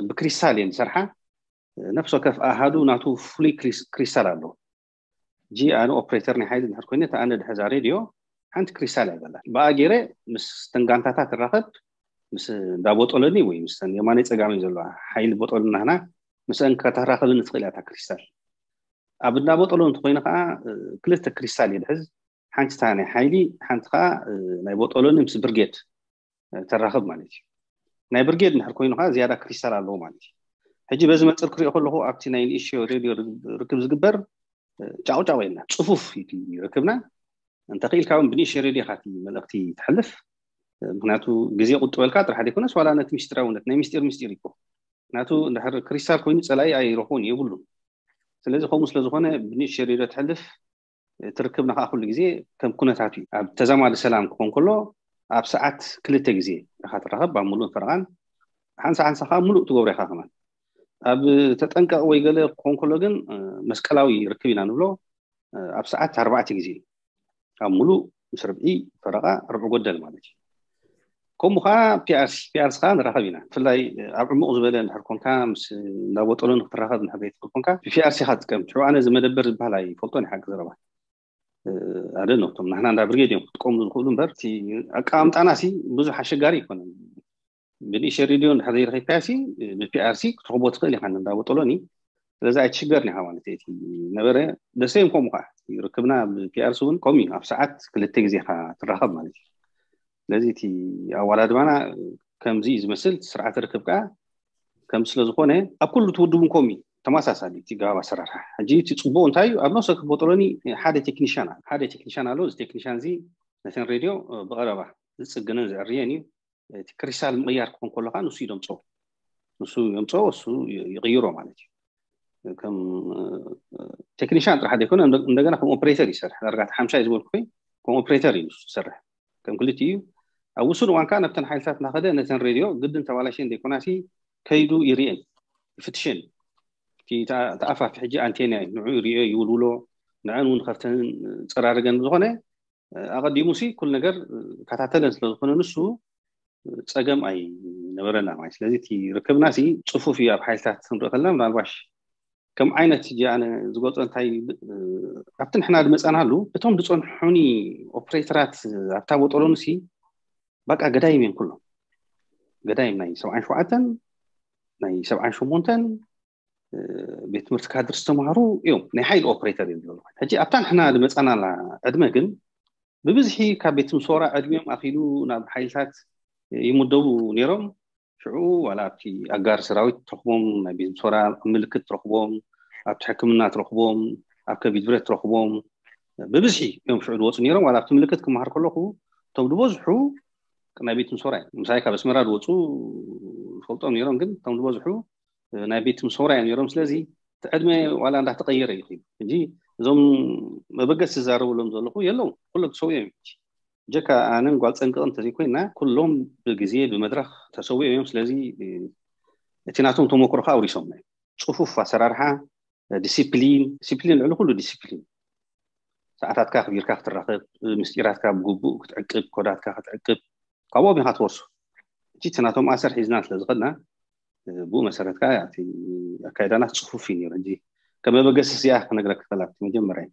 ብክሪስታል እየን ዝሰርሓ። ነፍሲ ወከፍ ኣሃዱ ናቱ ፍሉይ ክሪስታል ኣለዎ። ሕጂ ኣነ ኦፕሬተር ናይ ሓይሊ እንድሕር ኮይነ እታ ኣነ ድሕዛ ሬድዮ ሓንቲ ክሪስታል እያ ዘላ። ብኣ ገይረ ምስ ተን ጋንታታት ትራኸብ ምስ እንዳ ቦጦሎኒ ወይ ምስ የማነይ ፀጋመይ ዘለዋ ሓይሊ ቦጦሎኒ ናህና ምስአን ከተራኸብኒ ትኽእል እያ እታ ክሪስታል። ኣብ እንዳ ቦጦሎኒ እንተኮይነ ከዓ ክልተ ክሪስታል እየ ድሕዝ። ሓንቲ እታ ናይ ሓይሊ ሓንቲ ከዓ ናይ ቦጦሎኒ ምስ ብርጌድ ተራኽብ ማለት እዩ። ናይ ብርጌድ እንድሕር ኮይኑ ከዓ ዝያዳ ክሪስታል ኣለዎ ማለት እዩ። ሕጂ በዚ መፅር ክሪኦ ከለኹ ኣብቲ ናይ ንእሽዮ ሬድዮ ርክብ ዝግበር ጫቑጫቑ የለን፣ ፅፉፍ እዩ ርክብና። እንተኽኢልካ እውን ብንእሽዮ ሬድዮ ኢኻ እቲ መልእኽቲ ትሕልፍ። ምክንያቱ ግዜ ቁጥበልካ ጥራሕ ዘይኮነስ ዋላ ነቲ ምስጢራውነት ናይ ምስጢር ምስጢር ይኮ ናቱ እንድሕር ክሪስታል ኮይኑ ፀላኢ ኣይረኽቦን የብሉን። ስለዚ ከምኡ ስለዝኾነ ብንእሽዮ ሬድዮ ትሕልፍ ትርክብና ከዓ ኩሉ ግዜ ከም ኩነታቱ እዩ። ኣብ ተዛማዲ ሰላም ክኾን ከሎ ኣብ ሰዓት ክልተ ግዜ ኢኻ ትራኸብ ኣብ ሙሉእን ፈረቓን። ሓንሳ ሓንሳ ከዓ ሙሉእ ትገብሮ ኢኻ ከማን። ኣብ ተጠንቀቕ ወይ ገለ ክኾን ከሎ ግን መስቀላዊ ርክብ ኢና ንብሎ። ኣብ ሰዓት ኣርባዕተ ግዜ ኣብ ሙሉእ ምስ ርብዒ ፈረቓ ርብዒ ጎደል ማለት እዩ። ከምኡ ከዓ ፒኣርሲ ፒኣርሲ ከዓ ንራኸብ ኢና። ብፍላይ ኣብ ዕሙቕ ዝበለ እንድሕር ኮንካ ምስ እንዳቦጠሎ ንክትራኸብ እንድሕር ዘይትኽእል ኮንካ ብፒኣርሲ ኢኻ ትጥቀም። ሽዑ ኣነ እዚ መደበር ዝበሃል ኣይፈልጦን ሓቂ ዘረባ ኣደ ነቶም ናህና እንዳ ብርጌድ እዮም ክጥቀሙ ዝኽእሉ እምበር እቲ ኣቀማምጣና ሲ ብዙሕ ኣሸጋሪ ኣይኮነን። ብንእሽተይ ሬድዮ እንድሕር ዘይረኺብካዮ ሲ ብፒኣርሲ ክትረኽቦ ትኽእል ኢኻ እንዳቦጠሎኒ። ስለዚ ኣይትሽገርን ኢኻ ማለት እዩ። እቲ ነበረ ደሰ እዮም ከምኡ ከዓ ርክብና ብፒኣርሲ እውን ከምኡ እዩ። ኣብ ሰዓት ክልተ ግዜ ኢኻ ትራኸብ ማለት እዩ። ስለዚ እቲ ኣወዳድባና ከምዚ እዩ ዝመስል። ስርዓተ ርክብ ከዓ ከም ስለዝኾነ ኣብ ኩሉ ትውድቡ ከምኡ እዩ። ተመሳሳሊ እቲ ጋብ ኣሰራርሓ ሕጂ እቲ ፅቡቅ እንታይ እዩ? ኣብ ነፍሰ ክቦጠሎኒ ሓደ ቴክኒሽያን ኣሎ። ሓደ ቴክኒሽያን ኣሎ። እዚ ቴክኒሽያን እዚ ነተን ሬድዮ ብቀረባ ዝፅግንን ዝዕርየን እዩ። እቲ ክሪስታል ምቕያር ክኾን ከሎ ከዓ ንሱ እዩ ደምፅኦ። ንሱ የምፅኦ፣ እሱ ይቕይሮ ማለት እዩ። ከም ቴክኒሽያን ጥራሕ ዘይኮነ እንደገና ከም ኦፕሬተር ይሰርሕ። ዳርጋ ሓምሻይ ዝበልኩ ከም ኦፕሬተር እዩ ንሱ ዝሰርሕ። ከም ክልቲኡ እዩ። ኣብ ውሱን እዋን ከዓ ነብተን ሓይልታት እናኸደ ነተን ሬድዮ ግድን ተባላሽየን ዘይኮናሲ ከይዱ ይርኤን ይፍትሸን። እቲ ተኣፋፊ ሕጂ ኣንቴና እዩ። ንዑ ይርዮ ይውልውሎ። ንዐን እውን ከፍተን ጸራርገን ብዝኾነ ኣቐዲሙ ሲ ኩሉ ነገር ከታተለን ስለ ዝኾነ ንሱ ጸገም ኣይነበረና ማለት። ስለዚ እቲ ርክብና ሲ ጽፉፍ እዩ። ኣብ ሓይልታት ክንርኢ ከለና ምናልባሽ ከም ዓይነት ሕጂ ኣነ ዝገልጾ እንታይ ኣብቲ ንሕና ዝመጻናሉ እቶም ዝጸንሑኒ ኦፕሬተራት ኣብታ ቦጦሎኒ ሲ በቃ ገዳይም እዮም ኩሎም። ገዳይም ናይ ሰብዓን ሸውዓተን ናይ ሰብዓን ሸሞንተን ቤት ትምህርቲ ካድር ዝተማሃሩ እዮም። ናይ ሓይሊ ኦፕሬተር እዮም ዘለዉ። ሕጂ ኣብታ ንሕና ዝመጻናላ ዕድመ ግን ብብዝሒ ካብ ቤት ምሶራ ዕድሚኦም ኣኺሉ ናብ ሓይልታት ይምደቡ ነይሮም። ሽዑ ዋላ ኣብቲ ኣጋር ሰራዊት ትረኽቦም፣ ናይ ቤት ምሶራ ምልክት ትረኽቦም፣ ኣብቲ ሕክምና ትረኽቦም፣ ኣብ ከቢድ ብረት ትረኽቦም ብብዝሒ እዮም ሽዑ ዝወፁ ነይሮም። ዋላ ኣብቲ ምልክት ክመሃር ከለኹ እቶም ዝበዝሑ ናይ ቤት ምሶራ እዮም። ምሳይ ካብ ኣስመራ ዝወፁ ዝፈልጦም ነይሮም፣ ግን እቶም ዝበዝሑ ናይ ቤት ምሶራ እዮም ነይሮም። ስለዚ እቲ ዕድመ ዋላ እንዳተቀየረ እዩ። ሕጂ እዞም መበገስ ዝዛረብሎም ዘለኹ የለዉ፣ ኩሎም ተሰዊኦም እዮም። ጀካ ኣነን ጓል ፀንቅቕን እንተዘይኮይና ኩሎም ብግዜ ብመድረክ ተሰዊኦም እዮም። ስለዚ እቲ ናቶም ተመክሮ ከዓ ኣውሪሶም ናይ ፅፉፍ ኣሰራርሓ፣ ዲሲፕሊን፣ ዲሲፕሊን ልዕሊ ኩሉ ዲሲፕሊን፣ ሰዓታትካ ኣኽቢርካ ክትራኸብ፣ ምስጢራትካ ብግቡእ ክትዕቅብ፣ ኮዳትካ ክትዕቅብ፣ ካብኦም ኢኻ ትወርሶ። እቲ ናቶም ኣሰር ሒዝና ስለ ዝኸድና ብኡ መሰረት ከዓ እቲ ኣካይዳና ጽፉፍ እዩ ነይሩ። ሕጂ ከም መበገሲ እዚኣ ክነግረክ ክኽእል ኣብቲ መጀመርያ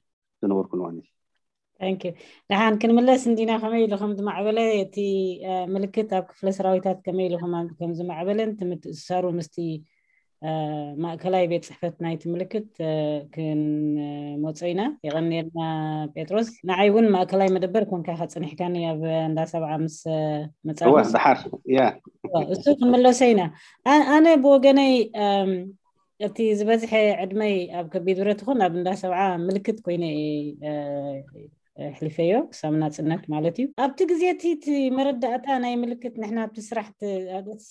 ዝነበርኩ እዋን እዩ። ንሓን ክንምለስ እንዲና። ከመይ ኢሉ ከም ዝማዕበለ እቲ ምልክት ኣብ ክፍለ ሰራዊታት ከመይ ኢሉ ከም ዝማዕበለን እቲ ምትእስሳሩ ምስቲ ማእከላይ ቤት ፅሕፈት ናይቲ ምልክት ክንመፆ ኢና። የቐንየልና ጴጥሮስ። ንዓይ እውን ማእከላይ መደበር ኮንካ ከፅንሕካኒ ኣብ እንዳ ሰብዓ ምስ መፃ ድሓር እሱ ክንምለሶ ኢና። ኣነ ብወገነይ እቲ ዝበዝሐ ዕድመይ ኣብ ከቢድ ብረት ይኹን ኣብ እንዳ ሰብዓ ምልክት ኮይነ ኣሕሊፈዮ ክሳብ ናፅነት ማለት እዩ። ኣብቲ ግዜ እቲ መረዳእታ ናይ ምልክት ንሕና ኣብቲ ስራሕ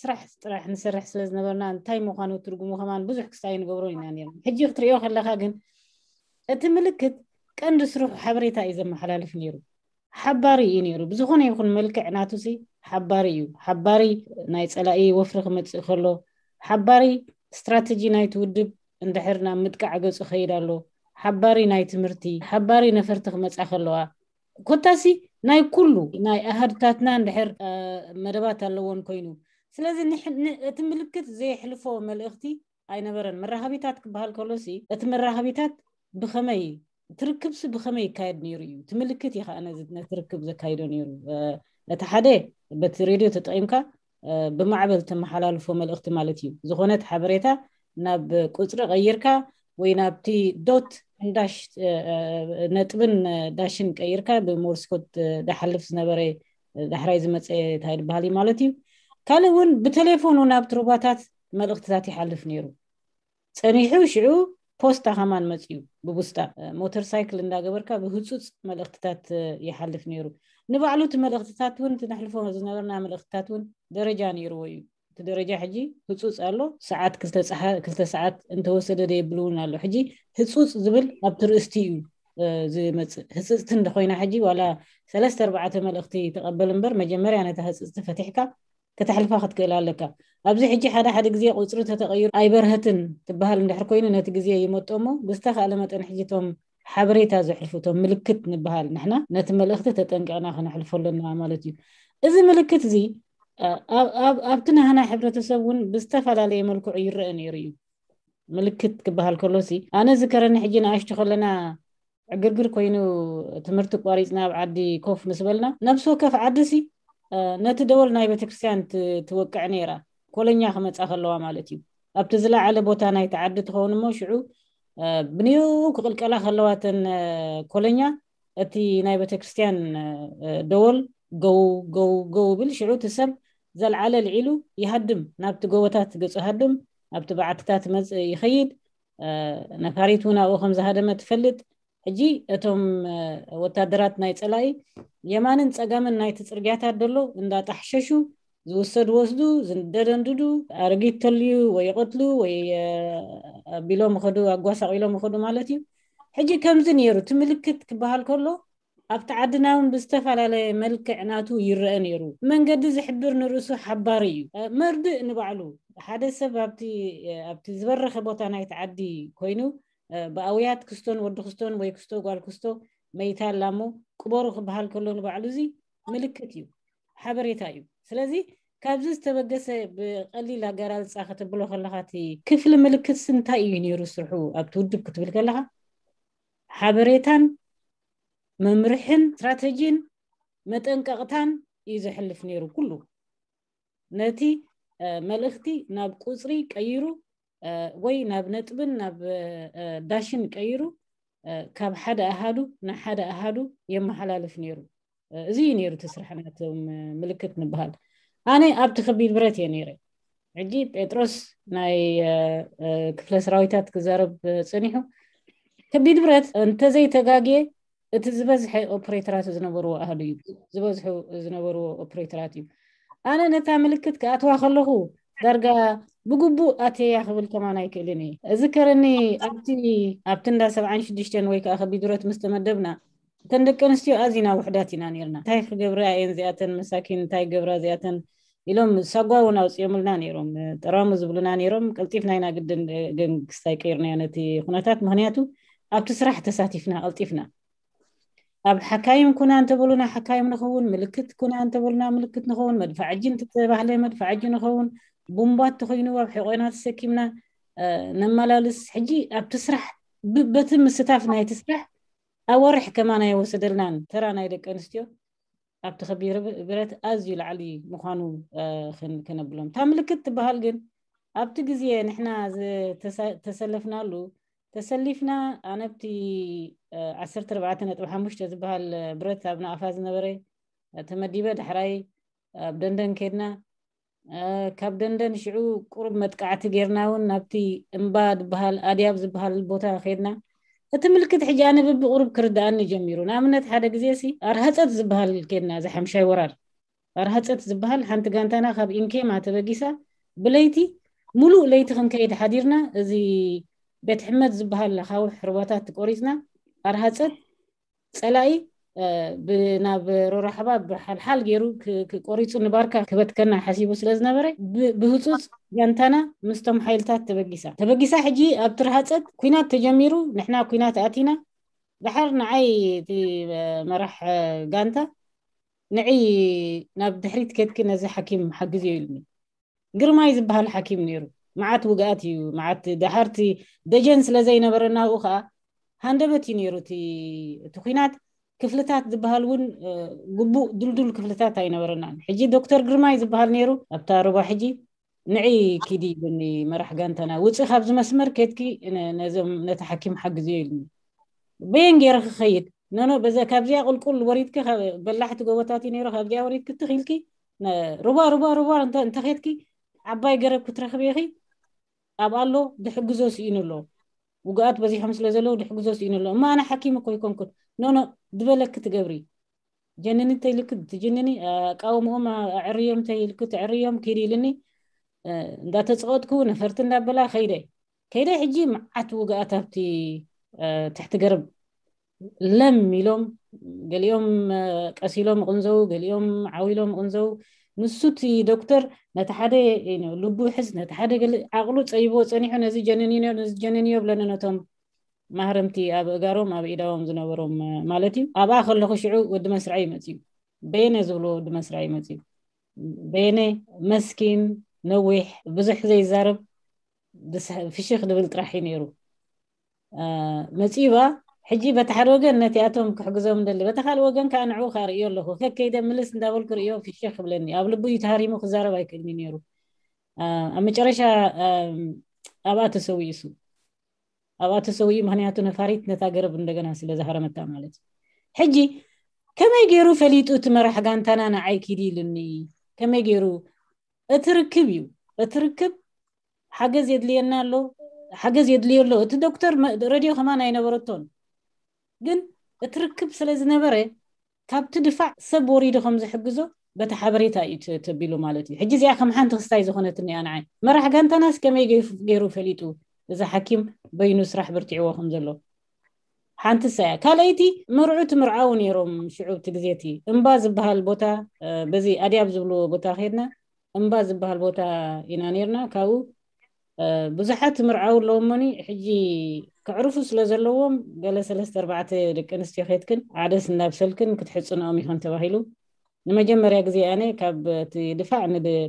ስራሕ ጥራሕ ንሰርሕ ስለ ዝነበርና እንታይ ምዃኑ ትርጉሙ ከማን ብዙሕ ክስታይ ንገብሮ ኢና ነርና። ሕጂ ክትሪኦ ከለካ ግን እቲ ምልክት ቀንዲ ስርሑ ሓበሬታ እዩ ዘመሓላልፍ ነይሩ። ሓባሪ እዩ ነይሩ። ብዝኾነ ይኹን መልክዕ ናቱ ሲ ሓባሪ እዩ። ሓባሪ ናይ ፀላኢ ወፍሪ ክመፅእ ከሎ፣ ሓባሪ ስትራተጂ ናይቲ ውድብ እንድሕር ናብ ምጥቃዕ ገፁ ከይድ ኣሎ፣ ሓባሪ ናይ ትምህርቲ፣ ሓባሪ ነፈርቲ ክመፃ ከለዋ፣ ኮታሲ ናይ ኩሉ ናይ ኣሃድታትና እንድሕር መደባት ኣለዎን ኮይኑ፣ ስለዚ እቲ ምልክት ዘየሕልፎ መልእኽቲ ኣይነበረን። መራኸቢታት ክበሃል ከሎሲ እቲ መራኸቢታት ብኸመይ ትርክብሲ ብኸመይ ይካየድ ነይሩ እዩ። እቲ ምልክት እዩ ከዓ ነቲ ርክብ ዘካይዶ ነይሩ። እቲ ሓደ በቲ ሬድዮ ተጠቒምካ ብማዕበል ተመሓላልፎ መልእኽቲ ማለት እዩ። ዝኾነት ሓበሬታ ናብ ቁፅሪ ቀይርካ ወይ ናብቲ ዶት እንዳሽ ነጥብን ዳሽን ቀይርካ ብሞርስ ኮድ ዝሓልፍ ዝነበረ ዳሕራይ ዝመፀ እንታይ ዝበሃል እዩ ማለት እዩ። ካልእ እውን ብቴሌፎን እውን ኣብቲ ሩባታት መልእኽትታት ይሓልፍ ነይሩ። ፀኒሑ ሽዑ ፖስታ ከማን መፅዩ ብቡስጣ ሞተር ሳይክል እንዳገበርካ ብህፁፅ መልእኽትታት ይሓልፍ ነይሩ። ንባዕሉ እቲ መልእኽትታት እውን እቲ ነሕልፎ ዝነበርና መልእኽትታት እውን ደረጃ ነይርዎ እዩ። እቲ ደረጃ ሕጂ ህፁፅ ኣሎ። ሰዓት ክልተ ሰዓት እንተወሰደ ደየብል እውን ኣሎ። ሕጂ ህፁፅ ዝብል ኣብቲ ርእስቲ እዩ ዝመፅእ። ህፅፅቲ እንተኮይና ሕጂ ዋላ ሰለስተ ኣርባዕተ መልእኽቲ ተቐበል እምበር መጀመርያ ነታ ህፅፅቲ ፈቲሕካ ከተሕልፋ ክትክእል ኣለካ። ኣብዚ ሕጂ ሓደ ሓደ ግዜ ቁፅሪ ተተቐይሩ ኣይበርሀትን ትበሃል እንድሕር ኮይኑ ነቲ ግዜ ይመጦ እሞ ብዝተኻእለ መጠን ሕጂ እቶም ሓበሬታ ዘሕልፉ እቶም ምልክት ንበሃል ንሕና ነቲ መልእኽቲ ተጠንቂቕና ክነሕልፎ ኣለና ማለት እዩ። እዚ ምልክት እዚ ኣብቲ ናህና ሕብረተሰብ እውን ብዝተፈላለየ መልክዑ ይረአ ነይሩ እዩ። ምልክት ክበሃል ከሎሲ ኣነ ዝከረኒ ሕጂ ንኣሽቱ ከለና ዕግርግር ኮይኑ ትምህርቲ ቋሪፅና ኣብ ዓዲ ኮፍ ምስ በልና ነብሲ ወከፍ ዓዲ ሲ ነቲ ደወል ናይ ቤተክርስትያን ትወቅዕ ነይራ። ኮለኛ ክመፃ ከለዋ ማለት እዩ። ኣብቲ ዝለዓለ ቦታ ናይቲ ዓዲ ትኸውን እሞ ሽዑ ብንየው ክቕልቀላ ከለዋ ተን ኮለኛ እቲ ናይ ቤተክርስትያን ደወል ገው ገው ገው ብል። ሽዑ እቲ ሰብ ዘልዓለ ልዒሉ ይሃድም፣ ናብቲ ጎቦታት ገፁ ሃድም፣ ኣብቲ በዓትታት መፅእ ይኸይድ። ነፋሪት እውን ኣብኡ ከም ዝሃደመ ትፈልጥ። ሕጂ እቶም ወታደራት ናይ ፀላኢ የማንን ፀጋምን ናይቲ ፅርግያታት ደሎ እንዳጣሕሸሹ ዝውሰድ ወስዱ፣ ዝንደደንድዱ፣ ኣረጊት ተልዩ ወይ ይቐትሉ ወይ ኣቢሎም ይኸዱ፣ ኣጓሳቒሎም ይኸዱ ማለት እዩ። ሕጂ ከምዚ ነይሩ እቲ ምልክት ክበሃል ከሎ ኣብቲ ዓድና እውን ብዝተፈላለየ መልክዕ ናቱ ይረአ ነይሩ። መንገዲ ዝሕብር ንርእሱ ሓባሪ እዩ። መርድእ ንባዕሉ ሓደ ሰብ ኣብቲ ዝበረኸ ቦታ ናይቲ ዓዲ ኮይኑ ብኣውያት ክስቶን ወዲ ክስቶን ወይ ክስቶ ጓል ክስቶ መይታ ኣላ እሞ ቅበሩ ክበሃል ከሎ ንባዕሉ እዚ ምልክት እዩ፣ ሓበሬታ እዩ። ስለዚ ካብዚ ዝተበገሰ ብቐሊል ኣገላልፃ ከተብሎ ከለኻ እቲ ክፍሊ ምልክት እንታይ እዩ ነይሩ ስርሑ ኣብቲ ውድብ ክትብል ከለኻ ሓበሬታን መምርሕን ስትራተጂን መጠንቀቕታን እዩ ዘሕልፍ ነይሩ። ኩሉ ነቲ መልእኽቲ ናብ ቁፅሪ ቀይሩ ወይ ናብ ነጥብን ናብ ዳሽን ቀይሩ ካብ ሓደ ኣሃዱ ናብ ሓደ ኣሃዱ የመሓላልፍ ነይሩ። እዚ እዩ ነይሩ እቲ ስራሕ ናቶም ምልክት ንበሃል። ኣነ ኣብቲ ከቢድ ብረት እየ ነይረ። ሕጂ ጴጥሮስ ናይ ክፍለ ሰራዊታት ክዛረብ ፀኒሑ ከቢድ ብረት እንተዘይተጋግየ እቲ ዝበዝሐ ኦፕሬተራት ዝነበርዎ ኣሃዱ እዩ፣ ዝበዝሑ ዝነበርዎ ኦፕሬተራት እዩ። ኣነ ነታ ምልክት ክኣትዋ ከለኹ ዳርጋ ብግቡእ ኣትየያ ክብል ከማን ኣይክእልን እየ። እዝከረኒ ኣብቲ ኣብቲ እንዳ ሰብዓን ሽዱሽተን ወይ ከዓ ከቢድ ብረት ምስ ተመደብና እተን ደቂ ኣንስትዮ ኣዚና ውሕዳት ኢና ነርና። እንታይ ክገብራ እየን እዚኣተን መሳኪን፣ እንታይ ገብራ እዚኣተን ኢሎም ሳጓ እውን ኣውፅኦምልና ነይሮም። ጠራሙ ዝብሉና ነይሮም። ቀልጢፍና ኢና ግድን ገንግስታይ ቀይርናዮ ነቲ ኩነታት፣ ምክንያቱ ኣብቲ ስራሕ ተሳቲፍና ቀልጢፍና ኣብ ሓካይም ኩና እንተበሉና ሓካይም ንኸውን፣ ምልክት ኩና እንተበሉና ምልክት ንኸውን፣ መድፋዕጂ እንተተባህለ መድፋዕጂ ንኸውን፣ ቡምባ እንተኮይኑ ኣብ ሕቆና ተሰኪምና ነመላልስ። ሕጂ ኣብቲ ስራሕ በቲ ምስታፍ ናይቲ ስራሕ ኣዋርሕ ከማን ኣይወሰደልናን። ተራ ናይ ደቂ ኣንስትዮ ኣብቲ ከቢድ ብረት ኣዝዩ ላዕሊ ምዃኑ ከነብሎም። እታ ምልክት ትበሃል ግን ኣብቲ ግዜ ንሕና ተሰለፍናሉ ተሰሊፍና ኣነብቲ ዓሰርተ ኣርባዕተ ነጥቢ ሓሙሽተ ዝበሃል ብረት ኣብ ናቕፋ ዝነበረ ተመዲበ ዳሕራይ ኣብ ደንደን ከድና። ካብ ደንደን ሽዑ ቁሩብ መጥቃዕቲ ጌርና እውን ናብቲ እምባ ዝበሃል ኣድያብ ዝበሃል ቦታ ከድና። እቲ ምልክት ሕጂ ኣነ ብብቁሩብ ክርድኣኒ ጀሚሩ። ንኣብነት ሓደ ግዜ ሲ ኣርሃፀት ዝበሃል ከድና፣ እዚ ሓምሻይ ወራር ኣርሃፀት ዝበሃል ሓንቲ ጋንታና ካብ ኢንኬማ ተበጊሳ ብለይቲ ሙሉእ ለይቲ ክንከይድ ሓዲርና። እዚ ቤት ሕመት ዝበሃል ኣኻውሕ ሩባታት ቆሪፅና ኣርሃፀት ፀላኢ ናብ ሮራሕባ ብሓልሓል ገይሩ ቆሪፁ ንባርካ ክበትከና ሓሲቡ ስለ ዝነበረ ብህፁፅ ጋንታና ምስቶም ሓይልታት ተበጊሳ ተበጊሳ። ሕጂ ኣብ ትርሃፀት ኩናት ተጀሚሩ፣ ንሕና ኩናት ኣቲና። ድሓር ንዓይ እቲ መራሕ ጋንታ ንዒ ናብ ድሕሪት ከድኪ ነዚ ሓኪም ሓግዝዮ ኢሉኒ። ግርማይ ዝበሃል ሓኪም ነይሩ። መዓት ውግኣት እዩ፣ መዓት ደሓርቲ ደጀን ስለ ዘይነበረ ናብኡ ከዓ ሃንደበት እዩ ነይሩ እቲ እቲ ኩናት። ክፍልታት ዝበሃል እውን ግቡእ ድልዱል ክፍልታት ኣይነበረናን። ሕጂ ዶክተር ግርማይ ዝበሃል ነይሩ ኣብታ ሩባ። ሕጂ ንዒ ኪዲ ይብልኒ መራሕ ጋንታና፣ ውፂ ካብዚ መስመር ከድኪ ነዞም ነቲ ሓኪም ሓግዝዮ ኢልኒ። በየን ገይረ ክኸይድ? ኖኖ በዛ ካብዚኣ ቁልቁል ወሪድኪ በላሕቲ ጎቦታት እዩ ነይሩ። ካብዚኣ ወሪድኪ ትኺልኪ ሩባ ሩባ ሩባ እንተኸድኪ ዓባይ ገረብ ክትረኽቢ ኢኺ። ኣብ ኣሎ ድሕግዞ ስኢኑ ኣሎ። ውግኣት በዚሖም ስለ ዘለዉ ድሕግዞ ስኢኑ ኣሎ። እማ ኣነ ሓኪም እኮ ይኮንኩን። ኖኖ ዝበለኪ ትገብሪ። ጀንኒ እንተይልኪ ትጅንኒ፣ ኣቃውምኦም ኣዕርዮም እንተይልኪ ትዕርዮም ኪድ ኢልኒ። እንዳተፀወጥኩ ነፈርቲ እንዳበላ ከይደ ከይደ ሕጂ መዓት ውግኣት ኣብቲ ትሕቲ ገረብ ለም ኢሎም፣ ገሊኦም ቀሲሎም ቅንዘው፣ ገሊኦም ዓው ኢሎም ቅንዘው። ንሱ እቲ ዶክተር ነቲ ሓደ ልቡ ይሕዝ፣ ነቲ ሓደ ገለ ዓቕሉ ፀይቦ ፀኒሑ ነዚ ጀንንዮ ነዚ ጀንንዮ ብለኒ ነቶም ማህረምቲ ኣብ እጋሮም ኣብ ኢዳዎም ዝነበሮም ማለት እዩ። ኣብኣ ከለኹ ሽዑ ወዲ መስርዐይ መፅዩ፣ በየነ ዝብሎ ወዲ መስርዐይ መፅዩ። በየነ መስኪን፣ ነዊሕ፣ ብዙሕ ዘይዛረብ፣ ፍሽኽ ድብል ጥራሕ እዩ ነይሩ። መፂባ ሕጂ በቲ ሓደ ወገን ነቲኣቶም ክሕግዞም ደሊ፣ በቲ ካልእ ወገን ከዓ ንዕኡ ከዓ ርእዮ ኣለኹ። ከከይደ ምልስ እንዳበልኩ ርእዮ ፍሽኽ ክብለኒ፣ ኣብ ልቡ እዩ ተሃሪሙ ክዛረብ ኣይክእልኒ ነይሩ። ኣብ መጨረሻ ኣብኣ ተሰዊኡ እሱ ኣብኣ ተሰዊኡ፣ ምክንያቱ ነፋሪት ነታ ገረብ እንደገና ስለ ዝሃረመታ ማለት እዩ። ሕጂ ከመይ ገይሩ ፈሊጡ እቲ መራሕ ጋንታና ንዓይ ኪዲ ኢሉኒ? ከመይ ገይሩ? እቲ ርክብ እዩ። እቲ ርክብ ሓገዝ የድልየና ኣሎ፣ ሓገዝ የድልዮ ኣሎ። እቲ ዶክተር ሬድዮ ከማን ኣይነበረቶን፣ ግን እቲ ርክብ ስለ ዝነበረ ካብቲ ድፋዕ ሰብ ወሪዱ ከም ዝሕግዞ በቲ ሓበሬታ እዩ ተቢሉ ማለት እዩ። ሕጂ እዚኣ ከም ሓንቲ ክስታይ ዝኾነትኒ እያ ንዓይ። መራሕ ጋንታናስ ከመይ ገይሩ ፈሊጡ እዚ ሓኪም በይኑ ስራሕ በርቲዕዎ ከም ዘሎ? ሓንቲ እሳ እያ። ካልኣይቲ መርዑ ትምርዓው ነይሮም ሽዑ እቲ ግዜ እቲ እምባ ዝበሃል ቦታ፣ በዚ ኣድያብ ዝብልዎ ቦታ ከድና እምባ ዝበሃል ቦታ ኢና ነርና። ካብኡ ብዙሓት ምርዓው ኣለዎም እሞኒ ሕጂ ክዕርፉ ስለ ዘለዎም ገለ ሰለስተ ኣርባዕተ ደቂ ኣንስትዮ ከይትክን ዓደስ እናብሰልክን ክትሕፅንኦም ይኾን ተባሂሉ። ንመጀመርያ ግዜ ኣነ ካብ እቲ ድፋዕ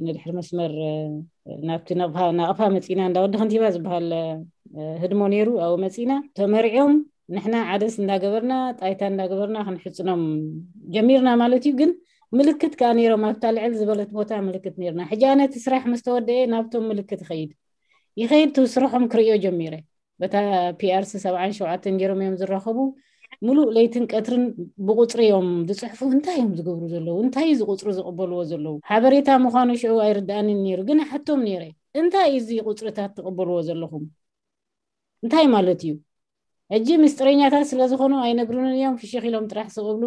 ንድሕሪ መስመር ናብቲ ናቕፋ መፂና እንዳወዲ ከንቲባ ዝበሃል ህድሞ ነይሩ ኣብኡ መፂና ተመሪዖም ንሕና ዓደስ እንዳገበርና ጣይታ እንዳገበርና ክንሕፅኖም ጀሚርና ማለት እዩ። ግን ምልክት ከዓ ነይሮም ኣብታ ልዕል ዝበለት ቦታ ምልክት ነይርና። ሕጂ ኣነ እቲ ስራሕ ምስ ተወደአ ናብቶም ምልክት ይኸይድ ይኸይድ እቲ ስርሖም ክርእዮ ጀሚረ። በታ ፒኣርሲ ሰብዓን ሸውዓተን ገይሮም እዮም ዝራኸቡ። ሙሉእ ለይትን ቀትርን ብቁፅሪ እዮም ዝፅሕፉ። እንታይ እዮም ዝገብሩ ዘለዉ? እንታይ እዩ እዚ ቁፅሪ ዝቕበልዎ ዘለዉ? ሓበሬታ ምዃኑ ሽዑ ኣይርድኣንን ነይሩ፣ ግን ሓቶም ነይረ፣ እንታይ እዩ እዚ ቁፅርታት ትቕበልዎ ዘለኹም? እንታይ ማለት እዩ? ሕጂ ምስጢረኛታት ስለ ዝኾኑ ኣይነግሩንን እዮም። ፍሽኽ ኢሎም ጥራሕ ስቕ ብሉ።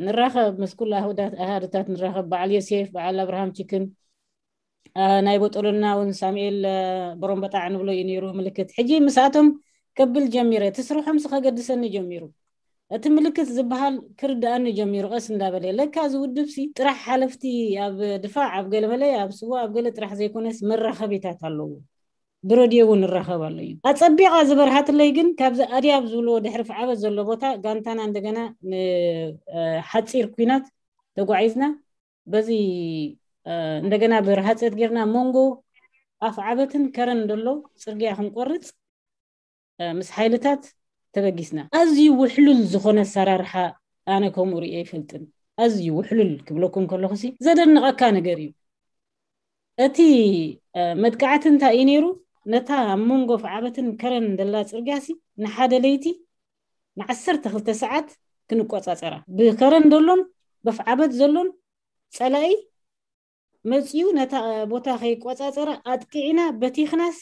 ንራኸብ ምስ ኩሉ ኣሃዱታት ንራኸብ። በዓል ዮሴፍ፣ በዓል ኣብርሃም ቺክን፣ ናይ ቦጦሎና እውን ሳሙኤል ቦሮምበጣዕ ንብሎ እዩ ነይሩ ምልክት። ሕጂ ምስኣቶም ከብል ጀሚረ። እቲ ስርሖምሲ ከገድሰኒ ጀሚሩ። እቲ ምልክት ዝበሃል ክርድኣኒ ጀሚሩ። ቀስ እንዳበለ ለካ እዚ ውድብሲ ጥራሕ ሓለፍቲ ኣብ ድፋዕ፣ ኣብ ገለመለ፣ ኣብ ስዋ፣ ኣብ ገለ ጥራሕ ዘይኮነስ መራኸቢታት ኣለዎ። ብረድዮ እውን እራኸብ ኣሎ እዩ። ኣጸቢቓ ዝበርሃትለይ ግን ካብዚ ኣድያብ ዝብልዎ ድሕሪ ፍዓበት ዘሎ ቦታ ጋንታና እንደገና ንሓጺር ኲናት ተጓዒዝና በዚ እንደገና ብርሃጸት ጌርና መንጎ ኣፍዓበትን ከረን ደሎ ጽርግያ ክንቆርጽ ምስ ሓይልታት ተበጊስና። ኣዝዩ ውሕሉል ዝኾነ ኣሰራርሓ ኣነ ከምኡ ርእየ ኣይፈልጥን። ኣዝዩ ውሕሉል ክብለኩም ከለኹሲ ዘደንቐካ ነገር እዩ። እቲ መጥቃዕቲ እንታይ እዩ ነይሩ? ነታ ኣብ መንጎ ኣፍዓበትን ከረን ደላ ጽርግያሲ ንሓደ ለይቲ ንዓሰርተ ክልተ ሰዓት ክንቆጻጸራ ብከረን ደሎን በፍዓበት ዘሎን ጸላኢ መጺኡ ነታ ቦታ ከይቆጻጸረ ኣጥቂዕና በቲኽናስ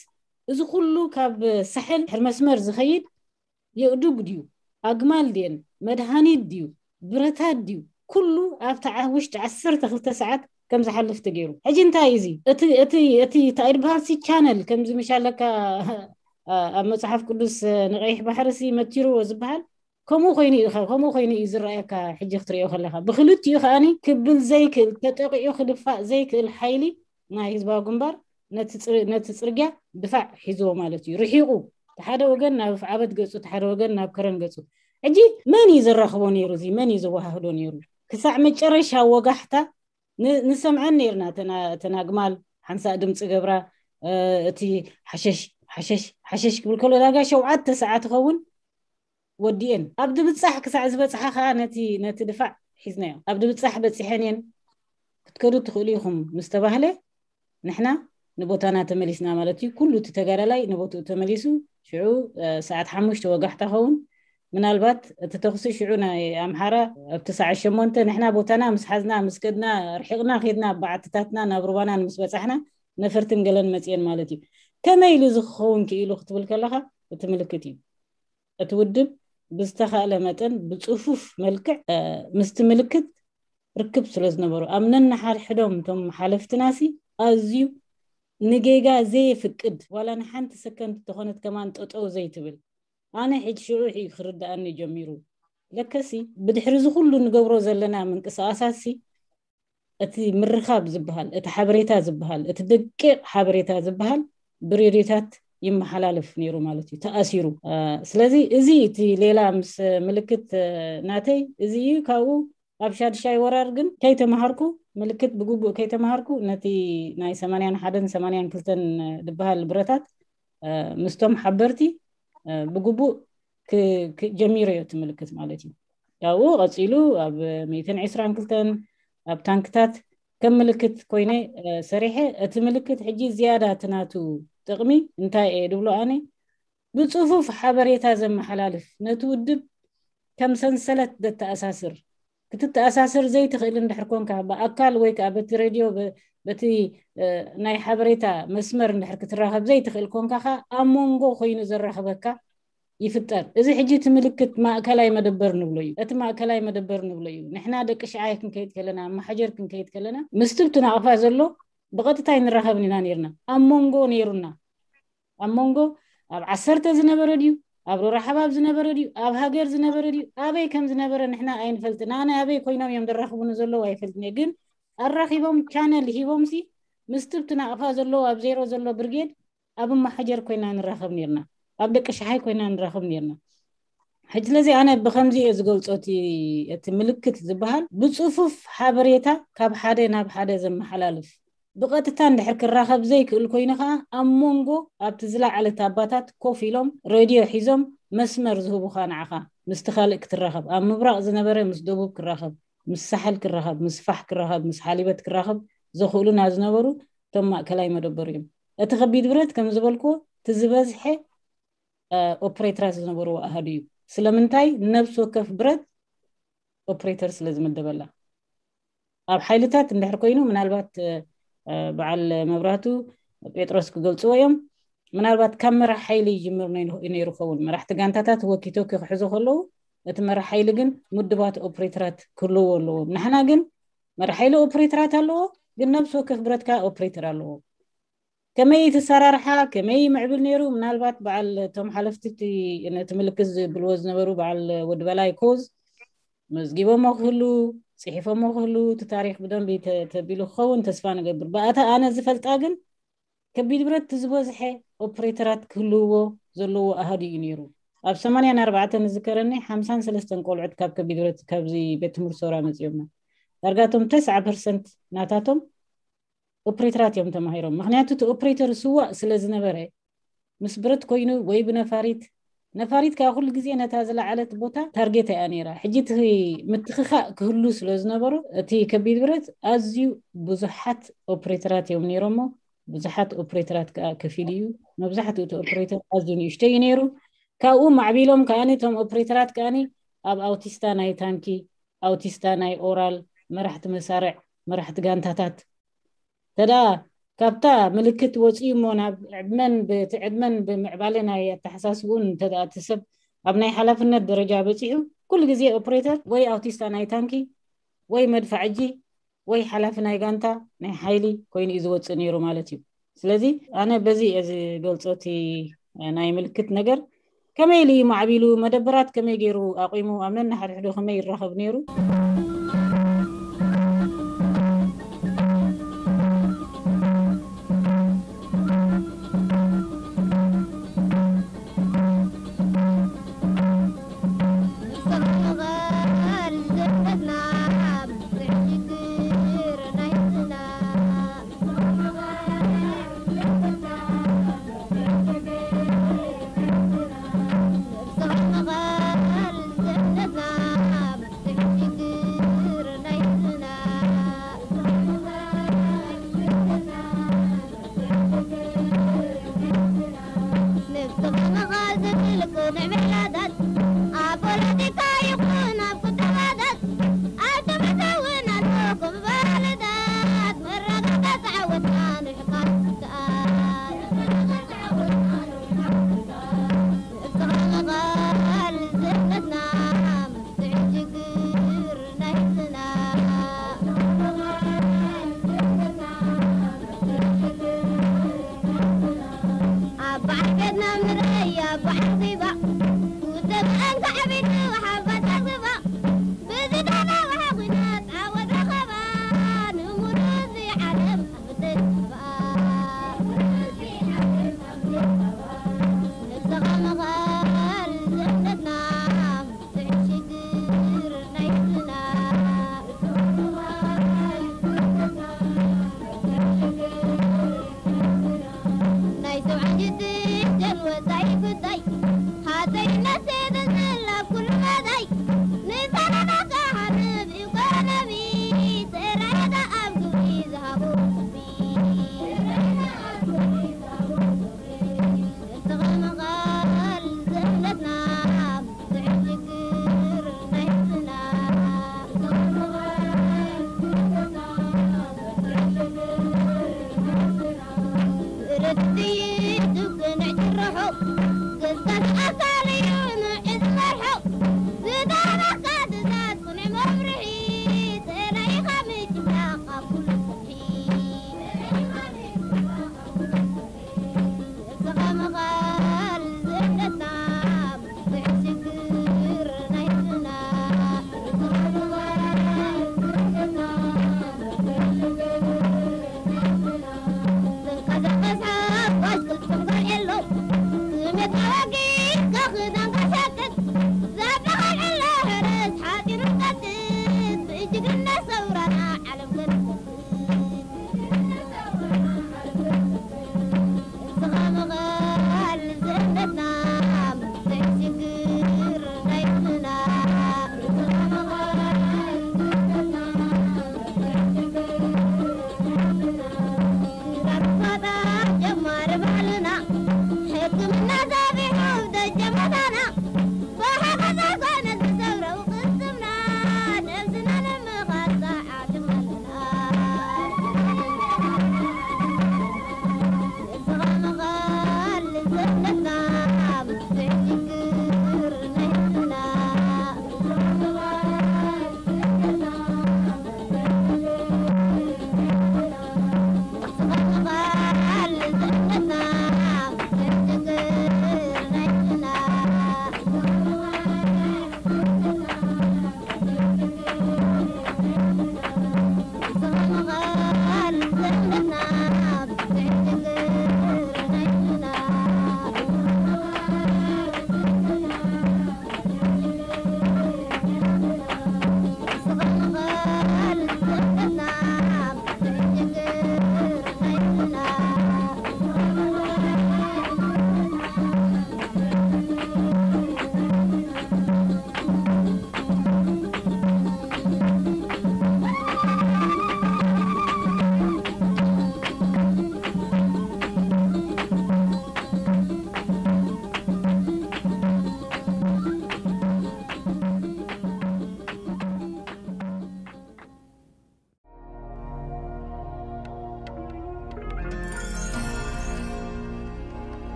እዚ ኩሉ ካብ ሳሕል ድሕሪ መስመር ዝኸይድ የእዱግ ድዩ ኣግማል ድየን መድሃኒት ድዩ ብረታት ድዩ ኩሉ ኣብታ ውሽጢ ዓሰርተ ክልተ ሰዓት ከም ዝሓልፍ ተገይሩ። ሕጂ እንታይ እዚ እቲ እቲ እቲ እንታይ ድበሃል ሲ ቻነል ከምዚ ምሻለካ ኣብ መጽሓፍ ቅዱስ ንቀይሕ ባሕሪ ሲ መቲርዎ ዝበሃል ከምኡ ኮይኑ እዩ ከምኡ ኮይኑ እዩ ዝረኣየካ። ሕጂ ክትሪኦ ከለካ ብክልቲኡ ከኣኒ ክብል ዘይክእል ተጠቂዑ ክድፋእ ዘይክእል ሓይሊ ናይ ህዝባዊ ግንባር ነቲ ጽርግያ ድፋዕ ሒዝዎ ማለት እዩ። ርሒቁ ሓደ ወገን ናብ ፍዓበት ገጹ ሓደ ወገን ናብ ከረን ገጹ። ሕጂ መን እዩ ዘራኽቦ ነይሩ? እዚ መን እዩ ዘወሃህዶ ነይሩ? ክሳዕ መጨረሻ ወጋሕታ ንሰምዐን ነርና። ተናግማል ሓንሳእ ድምፂ ገብራ እቲ ሓሸሽ ሓሸሽ ሓሸሽ ክብል ከሎ ዳጋ ሸውዓተ ሰዓት ይኸውን ወዲኤን። ኣብ ድብፃሕ ክሳዕ ዝበፅሓ ከዓ ነቲ ድፋዕ ሒዝናዮ። ኣብ ድብፃሕ በፂሐን እየን ክትከዱ ትኽእሉ ኢኹም ምስ ተባህለ ንሕና ንቦታና ተመሊስና ማለት እዩ። ኩሉ እቲ ተጋዳላይ ንቦትኡ ተመሊሱ። ሽዑ ሰዓት ሓሙሽተ ወጋሕታ ኸውን ምናልባት እቲ ተኽሲ ሽዑ ናይ ኣምሓራ ኣብቲ ሰዓት ሸሞንተ ንሕና ቦታና ምስ ሓዝና ምስ ከድና ርሒቕና ከድና በዓትታትና ናብ ሩባናን ምስ በፃሕና ነፈርትን ገለን መፅየን ማለት እዩ። ከመይ ኢሉ እዚ ክኸውን ክኢሉ ክትብል ከለካ እቲ ምልክት እዩ። እቲ ውድብ ብዝተኻእለ መጠን ብፅፉፍ መልክዕ ምስቲ ምልክት ርክብ ስለ ዝነበሩ ኣብ ነንሓድሕዶም እቶም ሓለፍትናሲ ኣዝዩ ንጌጋ ዘየፍቅድ ዋላ ንሓንቲ ሰከንድ ተኾነት ከማን ጠጠው ዘይትብል ኣነ ሕጂ ሽዑ እዩ ክርድኣኒ ጀሚሩ። ለከሲ ብድሕሪ እዚ ኩሉ ንገብሮ ዘለና ምንቅስቃሳትሲ እቲ ምርኻብ ዝበሃል እቲ ሓበሬታ ዝበሃል እቲ ደቂቕ ሓበሬታ ዝበሃል ብሬድዮታት ይመሓላለፍ ነይሩ ማለት እዩ ተኣሲሩ። ስለዚ እዚ እቲ ሌላ ምስ ምልክት ናተይ እዚ እዩ። ካብኡ ኣብ ሻድሻይ ወራር ግን ከይተማሃርኩ ምልክት ብግቡእ ከይተማሃርኩ ነቲ ናይ ሰማንያን ሓደን ሰማንያን ክልተን ዝበሃል ብረታት ምስቶም ሓበርቲ ብግቡእ ጀሚረዮ እቲ ምልክት ማለት እዩ። ካብኡ ቀፂሉ ኣብ ሚእትን ዕስራን ክልተን ኣብ ታንክታት ከም ምልክት ኮይነ ሰሪሐ። እቲ ምልክት ሕጂ ዝያዳ እቲ ናቱ ጥቕሚ እንታይ እየ ድብሎ ኣነ ብፅፉፍ ሓበሬታ ዘመሓላልፍ ነቲ ውድብ ከም ሰንሰለት ዘተኣሳስር ክትተኣሳሰር ዘይትኽእል እንድሕር ኮንካ ብኣካል ወይ ከዓ በቲ ሬድዮ በቲ ናይ ሓበሬታ መስመር እንድሕር ክትራኸብ ዘይትኽእል ኮንካ ከዓ ኣብ መንጎ ኮይኑ ዘራኽበካ ይፍጠር። እዚ ሕጂ እቲ ምልክት ማእከላይ መደበር ንብሎ እዩ። እቲ ማእከላይ መደበር ንብሎ እዩ። ንሕና ደቂ ሽዓይ ክንከይድ ከለና መሓጀር ክንከይድ ከለና ምስቲ ብቲ ናቕፋ ዘሎ ብቐጥታ ኣይንራኸብን ኢና ነርና። ኣብ መንጎ ነይሩና ኣብ መንጎ ኣብ ዓሰርተ ዝነበረ ድዩ ኣብ ሮራ ሓባብ ዝነበረ ድዩ ኣብ ሃገር ዝነበረ ድዩ ኣበይ ከም ዝነበረ ንሕና ኣይንፈልጥን። ኣነ ኣበይ ኮይኖም እዮም ዘራኽቡኒ ዘለዉ ኣይፈልጥን እየ። ግን ኣራኺቦም ቻነል ሂቦምሲ ምስቲ ብቲ ናቕፋ ዘለዉ ኣብ ዜሮ ዘሎ ብርጌድ ኣብ ማሓጀር ኮይና ንራኸብ ነርና፣ ኣብ ደቂ ሸሓይ ኮይና ንራኸብ ነርና። ሕጂ ስለዚ ኣነ ብኸምዚ እየ ዝገልጾ፣ እቲ ምልክት ዝበሃል ብጽፉፍ ሓበሬታ ካብ ሓደ ናብ ሓደ ዘመሓላልፍ፣ ብቐጥታ እንድሕር ክራኸብ ዘይክእል ኮይኑ ኸዓ ኣብ መንጎ ኣብቲ ዝለዓለ ታባታት ኮፍ ኢሎም ሬድዮ ሒዞም መስመር ዝህቡኻ ንዓኻ ምስቲ ካልእ ክትራኸብ፣ ኣብ ምብራቕ ዝነበረ ምስ ደቡብ ክራኸብ፣ ምስ ሳሕል ክራኸብ፣ ምስ ፋሕ ክራኸብ፣ ምስ ሓሊበት ክራኸብ ዘኽእሉና ዝነበሩ እቶም ማእከላይ መደበር እዮም። እቲ ከቢድ ብረት ከም ዝበልክዎ እቲ ዝበዝሐ ኦፕሬተራት ዝነበርዎ ኣሃዱ እዩ። ስለምንታይ? ነብሲ ወከፍ ብረት ኦፕሬተር ስለ ዝምደበላ። ኣብ ሓይልታት እንድሕር ኮይኑ ምናልባት በዓል መብራቱ ጴጥሮስ ክገልፅዎ እዮም። ምናልባት ካብ መራሕ ሓይሊ ይጅምር ነይሩ ኸውን። መራሕቲ ጋንታታት ወኪቶኪ ክሕዙ ከለዉ እቲ መራሕ ሓይሊ ግን ምድባት ኦፕሬተራት ክህልዎ ኣለዎም። ንሕና ግን መራሕ ሓይሊ ኦፕሬተራት ኣለዎ፣ ግን ነብሲ ወከፍ ብረት ከዓ ኦፕሬተር ኣለዎ። ከመይ ትሰራርሓ፣ ከመይ ምዕብል ነይሩ? ምናልባት በዓል እቶም ሓለፍቲ እቲ ነቲ ምልክት ዝብልዎ ዝነበሩ በዓል ወዲ በላይ ኮዝ መዝጊቦሞ ክህሉ፣ ጽሒፎሞ ክህሉ፣ እቲ ታሪኽ ብደንቢ ተ-፣ ተቢሉ ክኸውን ተስፋ ንገብር። ብኣታ ኣነ ዝፈልጣ ግን ከቢድ ብረት እቲ ዝበዝሐ ኦፕሬተራት ክህልውዎ ዘለዎ ኣሃዱ እዩ ነይሩ። ኣብ ሰማንያን ኣርባዕተን ዝዝከረኒ ሓምሳን ሰለስተን ቆልዑት ካብ ከቢድ ብረት ካብዚ ቤት ትምህርቲ ሶራ መጺኦምና። ዳርጋ እቶም ተስዓ ፐርሰንት ናታቶም ኦፕሬተራት እዮም ተማሂሮም። ምኽንያቱ እቲ ኦፕሬተር ስዋእ ስለ ዝነበረ ምስ ብረት ኮይኑ ወይ ብነፋሪት፣ ነፋሪት ከዓ ኩሉ ግዜ ነታ ዝለዓለት ቦታ ታርጌት እያ ነይራ። ሕጂ እቲ ምትኽኻእ ክህሉ ስለ ዝነበሩ እቲ ከቢድ ብረት ኣዝዩ ብዙሓት ኦፕሬተራት እዮም ነይሮሞ። ብዙሓት ኦፕሬተራት ከዓ ከፊሉ እዩ። መብዛሕትኡ እቲ ኦፕሬተር ኣዝዩ ንእሽተይ እዩ ነይሩ። ካብኡ ማዕቢሎም ከዓኒ እቶም ኦፕሬተራት ከዓኒ ኣብ ኣውቲስታ ናይ ታንኪ፣ ኣውቲስታ ናይ ኦራል፣ መራሕቲ መሳርዕ፣ መራሕቲ ጋንታታት ተዳ ካብታ ምልክት ወፂኡ እሞ ናብ ዕድመን ብቲ ዕድመን ብምዕባለ ናይ ኣተሓሳስብኡን እንተደኣ እቲ ሰብ ኣብ ናይ ሓላፍነት ደረጃ በፂሑ ኩሉ ግዜ ኦፕሬተር ወይ ኣውቲስታ ናይ ታንኪ ወይ መድፋዕጂ ወይ ሓላፊ ናይ ጋንታ ናይ ሓይሊ ኮይኑ እዩ ዝወፅእ ነይሩ ማለት እዩ። ስለዚ ኣነ በዚ እየ ዝገልፆ እቲ ናይ ምልክት ነገር። ከመይ ኢሉ እዩ ማዕቢሉ፣ መደበራት ከመይ ገይሩ ኣቑሙ፣ ኣብ ነንሓድሕዱ ከመይ ይራኸብ ነይሩ?